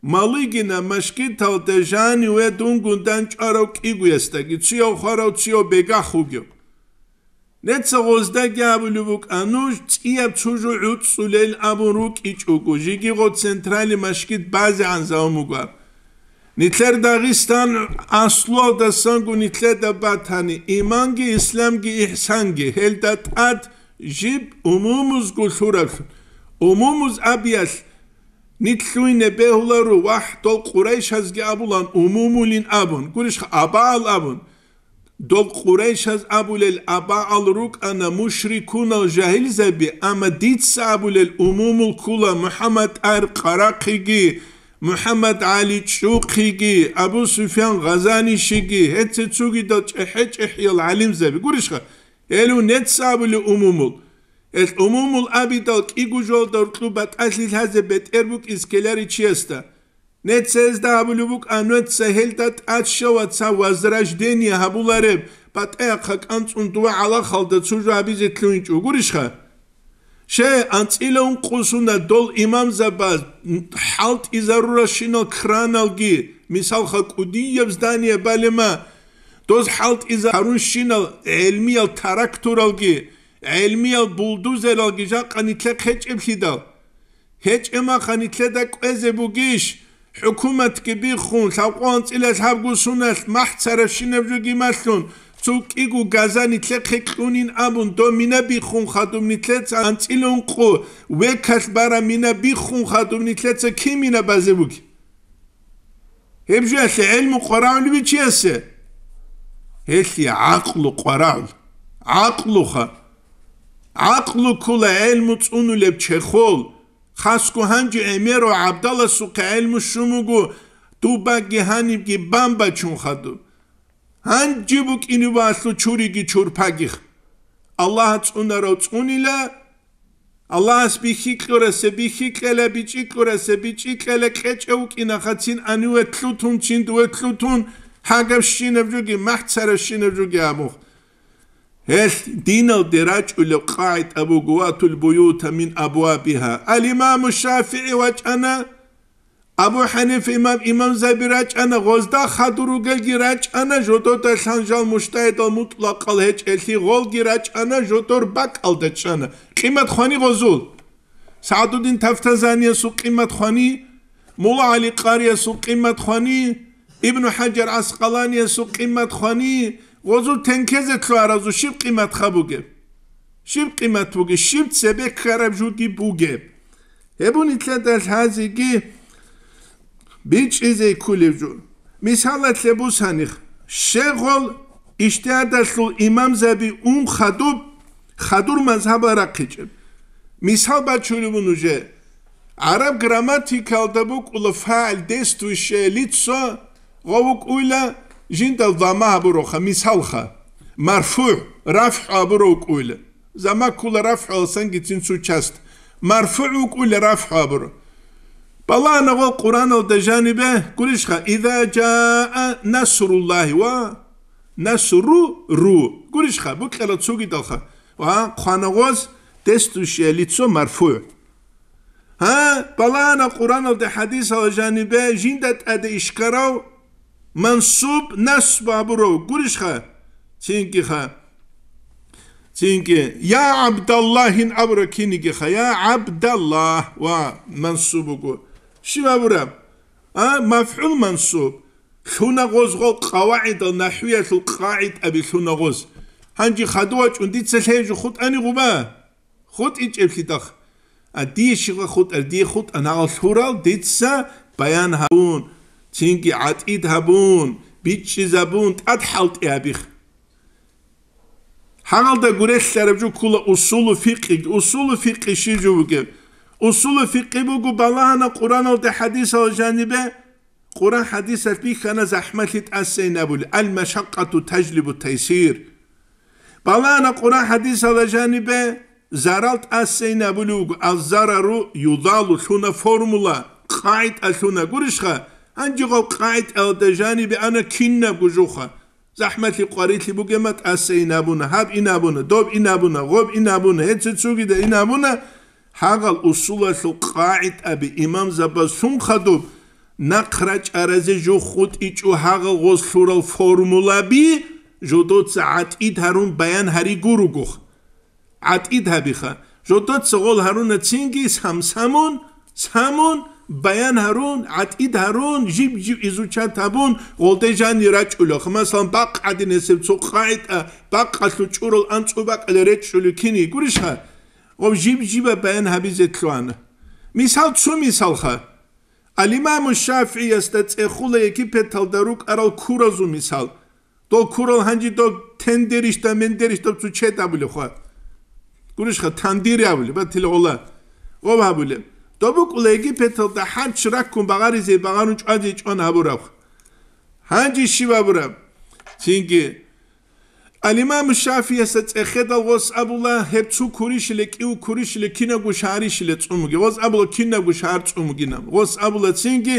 Малыгина машгиталда жаниве дунгун дандчӀварав кӀигоясдаги, цуяв хварав, цуяв бегахъ вугев. Неца гъоздаги абулеб букӀа, нуж цӀияб цо жо гӀуцӀцӀулел абун рукӀичӀого, жиги гъо центральный машгит базегӀан заман буго. Нилъер Дагъистан аслуялдасанго нилъеда батани, иманги, исламги, ихсанги, гьелда тӀад жиб умумузго лъураблъун. Умумуз абиялъ, нилъ лъугьине бегьуларо, вахӀ, дол къурайшазги абулан умумулин абун, гурищха, абаал абун. Дол къурайшаз абулел абаал рукӀана мушрикунал жагьилзаби, амма дица абулел умумул ккула МухӀаммад ТӀагьир Къарахъиги, МухӀаммад ГӀали ЧӀухъиги, Абу Суфьян Гъазанишиги, гьецин цогидал чӀехӀе-чӀехӀиял гӀалимзаби. Гурищха, гьелу неца абулев умумул. Гьелъ умумул абидал кӀиго жоялда гьоркьоб батӀалъи лъазе бетӀер букӀиз ккеларичиясда. Нецезда абулеб букӀа, нуца гьелда тӀад щаваца возрождение гьабулареб, батӀа-, яхъа кӀанцӀун дова гӀалахалда цо жо гьабизе лъугьинчӀо гурищха? Ще, анцӀила ункъо суна дол имамзабаз хӀалтӀизаруращинал краналги, мисалха, кӀудияб здание балема, доз хӀалтӀизарунщинал гӀелмиял тракторалги, гӀелмиял булдузералги жакъа нилъехъ гьечӀеблъидал. ГьечӀеб маха нилъеда кӀвезе бугищ? ХӀукуматги биххун, лъабкъоялда анцӀила лъабго суналъ махӀ царабщинаб жоги малъун, цо кӀиго газа нилъехъе кьунин абун, доб мина биххун хадуб нилъеца анцӀила ункъо векалъ бараб мина биххун хадуб нилъеца кин мина базе буги? Гьеб жоялъе гӀелму къварагӀулеб чиясе? Гьелъие гӀакълу къварагӀул. ГӀакълуха. ГӀакълу ккула гӀелму цӀунулеб чехол. Хасго гьанже гӀемерав гӀабдаласухъе гӀелму щун вуго, дубаги гьанибги бан бачун хадуб. Гьанже букӀине валъу чуриги чурпагих. Аллагь цӀунарав цӀунила, Аллагьас бихьи кьурасе бихьи кьела, бичӀчӀи кьурасе бичӀчӀи кьела, кьечӀев вукӀина хацин аниве лъутун, чиндуве лъутун, гьагабщинаб жоги, махӀ царабщинаб жоги абух. Гьелъ диналде рачӀулеб къагӀида буго: «Ватул буюта мин абвабиха». Ал-Имаму ШафигӀи вачӀана, Абу ХӀанифа имам, имамзаби рачӀана, гъозда хадур ругелги рачӀана, жододалъан жал мужтагьидал мутӀлакъал гьечӀелъи, гъолги рачӀана, жодор бакӀалда чӀана. Къимат хвани гъозул. СагӀдуддин Тафтазаниясул къимат хвани, Мулла ГӀали Къариясул къимат хвани, Ибну ХӀажар ГӀаскъаланиясул къимат хвани, гъозул тенкезе лъугьаразул щиб къиматха бугеб? Щиб къимат бугеб? Щиб цебе ккараб жуги бугеб? Гьеб нилъеда лъазеги бичӀчӀизе кколев жо. Мисалалъе бусаних, щегъол ижтигьадалъул имамзаби ун хадуб, хадур мазгьаб рахъичӀеб. Мисал бачулев вун уже. ГӀараб грамматикалда букӀула фагӀил, действующее лицо, гъов вукӀуйла жинда замма гьабуроха, мисалха, марфугӀ, рафгӀу гьабуро вукӀуйла. Замма ккула рафгӀуялсанги цин цо часть. МарфугӀ вукӀуйла рафгӀу гьабуро. Балагьана гъол Къуръаналда жанибе, гурищха, «Иза жаа насруллагьи» ва «насру ру». Гурищха, букӀарал цогидалха. Ва хъвана гъоз, действующее лицо, марфугӀ. Гьа, балагьана Къуръаналда, хӀадисалда жанибе жинда тӀаде ишкарав мансуб, насб гьабурав, гурищха? Цинги ха. Цинги, «Я ГӀабдаллагьин» абура кинигиха, «Я ГӀабдаллагь» ва мансуб буго. Щиб абураб? А, мафгӀул мансуб. Лъуна гъоз гъол къавагӀидал, нахӀвиялъул къагӀидаби лъуна гъоз. Гьанже хадув вачӀун дица лъей жо хутӀани гъуба? ХутӀичӀеблъидахъ. А дие щибха хутӀар? Дие хутӀа нагъал лъурал дица баян гьабун, цинги гӀатӀид гьабун, бичӀчӀизабун, тӀад хӀалтӀи гьабих. Гьагъалда гурелъараб жо ккула усулу фикъи. Усулу фикъи щиб жо бугеб? Усулу фикъи буго балагьана Къуръаналда, хӀадисалда жанибе, Къуръан хӀадисалъ бихьана захӀмалъи тӀасейин абули, «Ал-машакъату тажлибу тайсир». Балагьана Къуръан хӀадисалда жанибе зарал тӀасейин абулев вуго, «Аз-зарару юзалу» лъуна формула, къагӀида лъуна, гурищха? Гьанже гъаб къагӀидалда жанибе ана кинабго жоха. ЗахӀмалъи къварилъи бугема тӀасейин абуна, гьаб ин абуна, доб ин абуна, гъоб ин абуна, гьеце цогида ин абуна, гьагъал усулалъул къагӀидаби имамзабаз лъун хадуб, нахъ рачӀаразе жо хутӀичӀо гьагъал гъоз лъурал формулаби жодоца гӀатӀид гьарун баян гьари гуругух. ГӀатӀид гьабиха. Жодоца гъол гьаруна цинги сам-самун, самун, баян гьарун, гӀатӀид гьарун, жиб-жиб изучат гьабун, гъолде жанир рачӀулеха. Масалан, бакъ гӀадин гьесеб цо къагӀида, бакъалъул чӀурал анцӀу бакӀалде речӀчӀулев кини гурищха? Гъоб жиб-жиба баян гьабизе лъугьана. Мисал, цо мисалха. Ал-Имаму ШафигӀиясда цӀехула Египеталда рукӀарал куразул мисал. Дол курал гьанже дол тендерищда, мендерищда цо чед абулеб хва. Гурищха, тандир абулеб, батила гъола. Гъоб гьабулеб. Доб букӀула Египеталда хӀарч раккун багъаризе, багъарун чӀвазе чӀван гьабураб. Гьанже щиб абураб? Цинги Ал-Имам ШафигӀиясда цӀехедал гъос абула, гьеб цо курищиле, кӀив курищиле, кинабго шагьарищиле цӀумуги. Гъос абула, кинабго шагьар цӀумугинаб. Гъос абула цинги,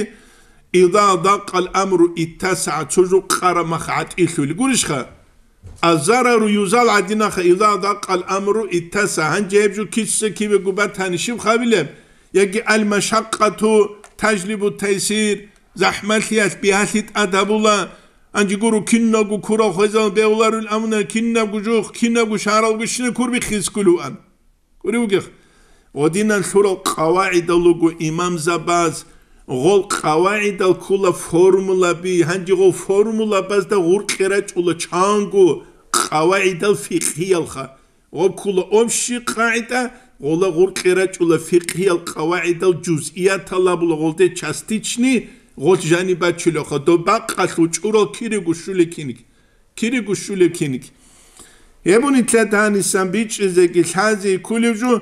«Иза дакъал амру иттасагӀа», цо жо къараб мах гӀатӀилъули. Гурищха? «Аззарару юзал» гӀадинаха, «Иза дакъал амру иттасагӀа». Гьанже гьеб жо киса кибего батани, щиб хабилеб? Яги «Ал-машакъату тажлибу тайсир», захӀмалъиялъ бигьалъи тӀад гьабула, гьанже гуро киналго курал хвезал бегьуларул амуна, кинабго жух, кинабго шагьаралго щина курбихъизе кколеван. Кури вугех. Гъодинан лъурал къавагӀидал руго имамзабаз, гъол къавагӀидал ккула формулаби, гьанже гъол формулабазда гъуркье рачӀула чанго къавагӀидал фикъгьиялха. Гъоб ккула общий къагӀида, гъола гъуркье рачӀула фикъгьиял къавагӀидал жузъиятал абула гъолде частичный, гъолъ жаниб бачулевха, доб бакъалъул чӀурал кирего щулеб киниг. Кирего щулеб киниг. Гьеб нилъеда гьанисан бичӀчӀизеги лъазе кколев жо,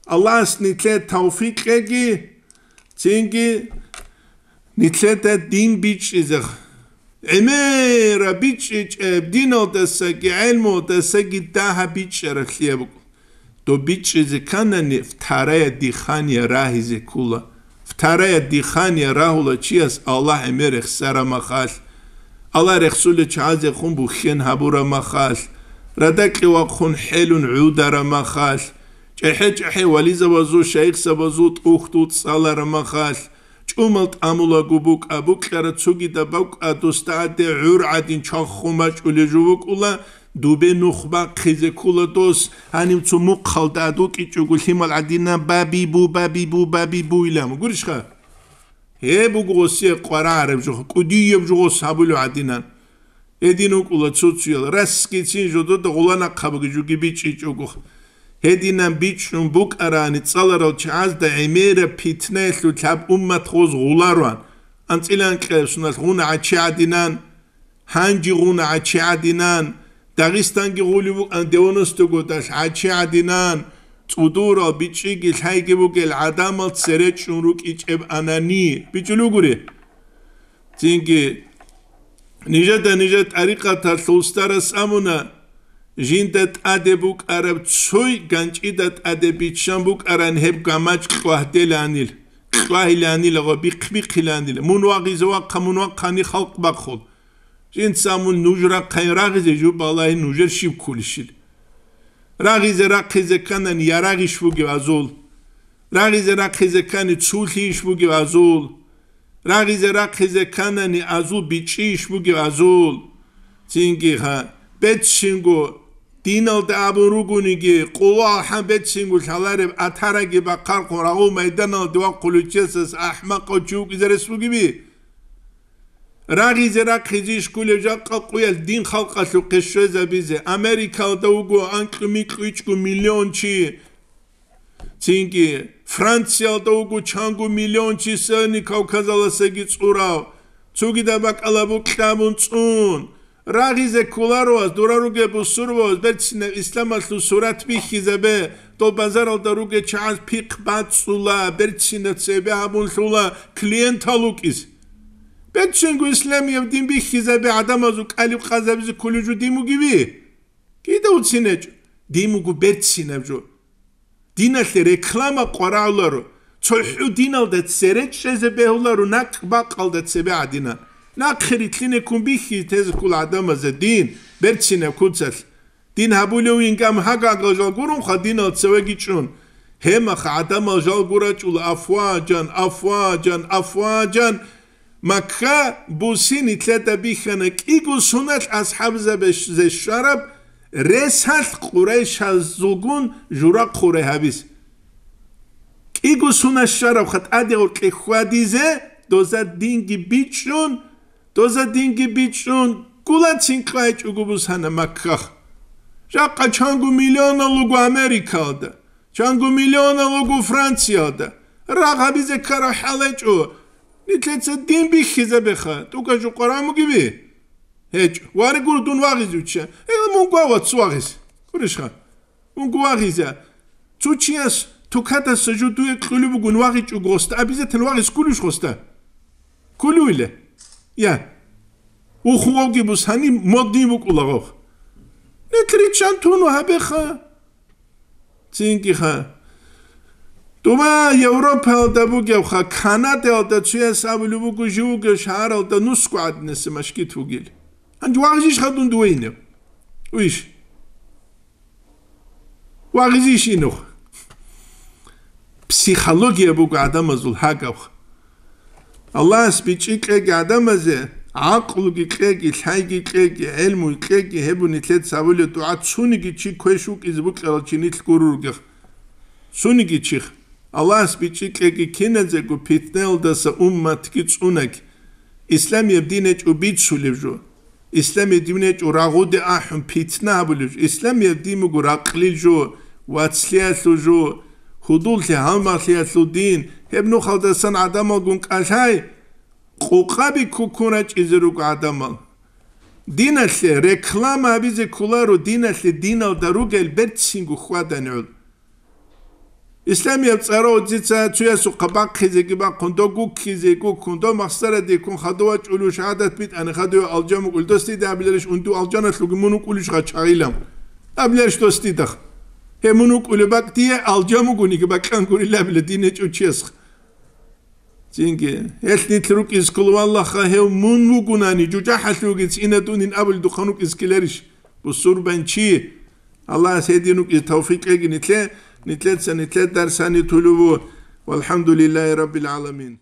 Аллагьас нилъее тавфикъ кьеги, цинги нилъеда дин бичӀчӀизе, гӀемераб бичӀчӀичӀеб диналдасаги гӀелмудасаги дагьаб бичӀчӀаралъияб буго. Доб бичӀчӀизе кканани, вторая дыхание рагьизе ккола. Вторая дыхание рагьула чияс Аллагь гӀемер рехсараб махалъ. Аллагь рехсулел чагӀазехун бухьен гьабураб махалъ. Радакье вахъун хӀелун гӀудараб махалъ. ЧӀехӀе-чӀехӀе вализабазул, шайихзабазул тӀухьдул цӀалараб махалъ. ТӀумал тӀамулаго букӀа, букьара цогидаб бакӀа, досда гӀаде гӀур гӀадин чвахун бачӀулей жо букӀула, дубе нух бахъизе ккула дос, гьанив цо мухъалда гӀад вукӀичӀого лъимал гӀадинан, «Баби бу, баби бу, баби бу», илан. Гурищха? Гьеб буго гъосие къварагӀараб жо, кӀудияб жо гъос гьабулев гӀадинан. Гьедин вукӀула цо-цоял, расгицин жодода гъула нахъабги жуги бичӀчӀичӀого. Гьединан бичӀчӀун букӀарани, цӀаларал чагӀазда гӀемераб питнаялъул лъаб уммат гъоз гъулароан. АнцӀила анкьаб соналъ гъуна гӀачи гӀадинан, гьанжи гъуна гӀачи гӀадинан, Дагъистанги гъулев вукӀан девяносто годалъ гӀачи гӀадинан, цӀудурал бичӀчӀиги лъайги бугел гӀадамал цере чӀун рукӀичӀеб анани. БичӀчӀулев гури? Цинги, нижеда нижер тӀарикъаталъул устарас абуна, жинда тӀаде букӀараб цой ганчӀида тӀаде биччан букӀаран гьеб гамачӀ кьвагьделанил, кьвагьиланила ва бихъ-бихъиланила. Мун вагъизе вахъа, мун вахъани халкъ бахъул. Жинца мун нуж рахъайин рагъизе жуб балагьи нужер щиб кколищил. Рагъизе рахъизе кканани ярагъиш бугев азул. Рагъизе рахъизе ккани цулъийищ бугев азул. Рагъизе рахъизе кканани азул бичӀчӀийищ бугев азул. Цинги ха, беццинго, диналда абун ругониги, къуло алхӀам беццинго лъалареб атараги бахъархъун рагъул майданалде вахъулев чиясас ахӀмакъав чи вукӀизе рес бугеби? Рагъизе рахъизе ишкулев жакъа къуял дин халкъалъухъе щвезабизе. Америкалда вуго анкьу-микьу ичӀго миллион чи. Цинги Франциялда вуго чанго миллион чи, сени Кавказаласаги цӀурав. Цогидаб бакӀалаб букьа абун цӀун. Рагъизе кколаро вас, дура ругеб бусурбабаз берцинаб исламалъул сурат бихьизабе, дол базаралда ругел чагӀаз пихъ бацӀцӀула, берцинаб цебе гьабун лъула клиентал вукӀиз. Берцинго исламияб дин бихьизабе гӀадамазул кӀалиб къазабизе кколев жо дин вугеви? Кида уцин гьечӀо? Дин вуго берцинаб жо. Диналъе реклама къварагӀуларо, цохӀо диналда цере чӀезе бегьуларо накӀ бакъалда цебе гӀадинан. Нахъе рилълъине ккун бихьи тезе ккола гӀадамазе дин, берцинаб куцалъ. Дин гьабулев ингам гьагагал жал гурунха динал цевеги чӀун. Гьемаха гӀадамал жал гурачӀула афваджан, афваджан, афваджан. Макка буси нилъеда бихьана кӀиго суналъ асхӀабзабазе щвараб ресалъ къурайшазулгун жура хъурай гьабиз. КӀиго сунас щварабха тӀаде гъоркье хьвадизе, доза динги бичӀчӀун, доза динги бичӀчӀун, гулацин кьвайчӀого бусана Макках. Жакъа чанго миллионал луго Америкалда, чанго миллионал луго Франциялда. Рагъ гьабизе ккараб хӀал гьечӀо. Нилъеца дин бихьизабеха, тӀука жукъа рамугеби? ГьечӀо. Вари гуро дун вагъизе вичча. Э, мун гва вац вагъиз. Гурищха? Мун гва вагъиза. Цо чияс тукатаса жо дуе кьулеб бугун вагъичӀого гъоста, обязательно вагъиз ккулищ гъоста? Ккулуйла. Я. Ухугъавги бус гьаниб модни букӀулагъав. Нилъ риччан туну гьабеха. Цинги ха. Дуба Европаялда бугевха, Канадаялда цуяс абулеб буго, жив вугев шагьаралда нусго гӀадинаса машгит вугил. Гьанже вагъижищха дун дувейинев? Уйищ? Вагъижищ инев? Психология буго гӀадамазул гьагав. Аллагьас бичӀчӀи кьеги гӀадамазе, гӀакълуги кьеги, лъайги кьеги, гӀелмуги кьеги, гьеб нилъеца гьабулеб дугӀа цониги чи квеш вукӀизе букӀарал чи нилъ гуро ругех. Цониги чих. Аллагьас бичӀчӀи кьеги киназего питнаялдаса умматги цӀунаги. Исламияб дин гьечӀо бицулеб жо. Исламияб дин гьечӀо рагъуде ахӀун питна гьабулеб жо. Исламияб дин буго ракълил жо, вацлъиялъул жо, гьудуллъи гьалмагълъиялъул дин. Гьеб нухалдасан гӀадамалгун кӀалъай, къукъаби ккуккун рачӀизе руго гӀадамал. Диналъе реклама гьабизе кколаро, диналъе диналда ругел берцинго хьвадани гӀур. Исламияб цӀарав дица цуясухъа бахъизеги бахъун, дов гуккизе гуккун, дов махсараде ккун, хадув вачӀулев шагьадат битӀани, хадув алжан вукӀулев, дос дида абиларищ, унду алжаналъуги мун вукӀулищ гъачагъилан? Абиларищ дос дидах? Гье, мун вукӀулеб бакӀ дие алжан вугониги бакьан гурилан абила дин гьечӀев чиясха. Цинги, гьелъ нилъ рукӀиз ккола, валлагьха, гьев мун вугунани, жужахӀалъугиц инадунин абулдухъан вукӀиз ккеларищ? Бусурбанчи! Аллагьас гьедин рукӀиз тавфикъ кьеги нилъе, нилъеца нилъер дарсани тулув ву. Валхамдулиллагьи раббил гӀаламин.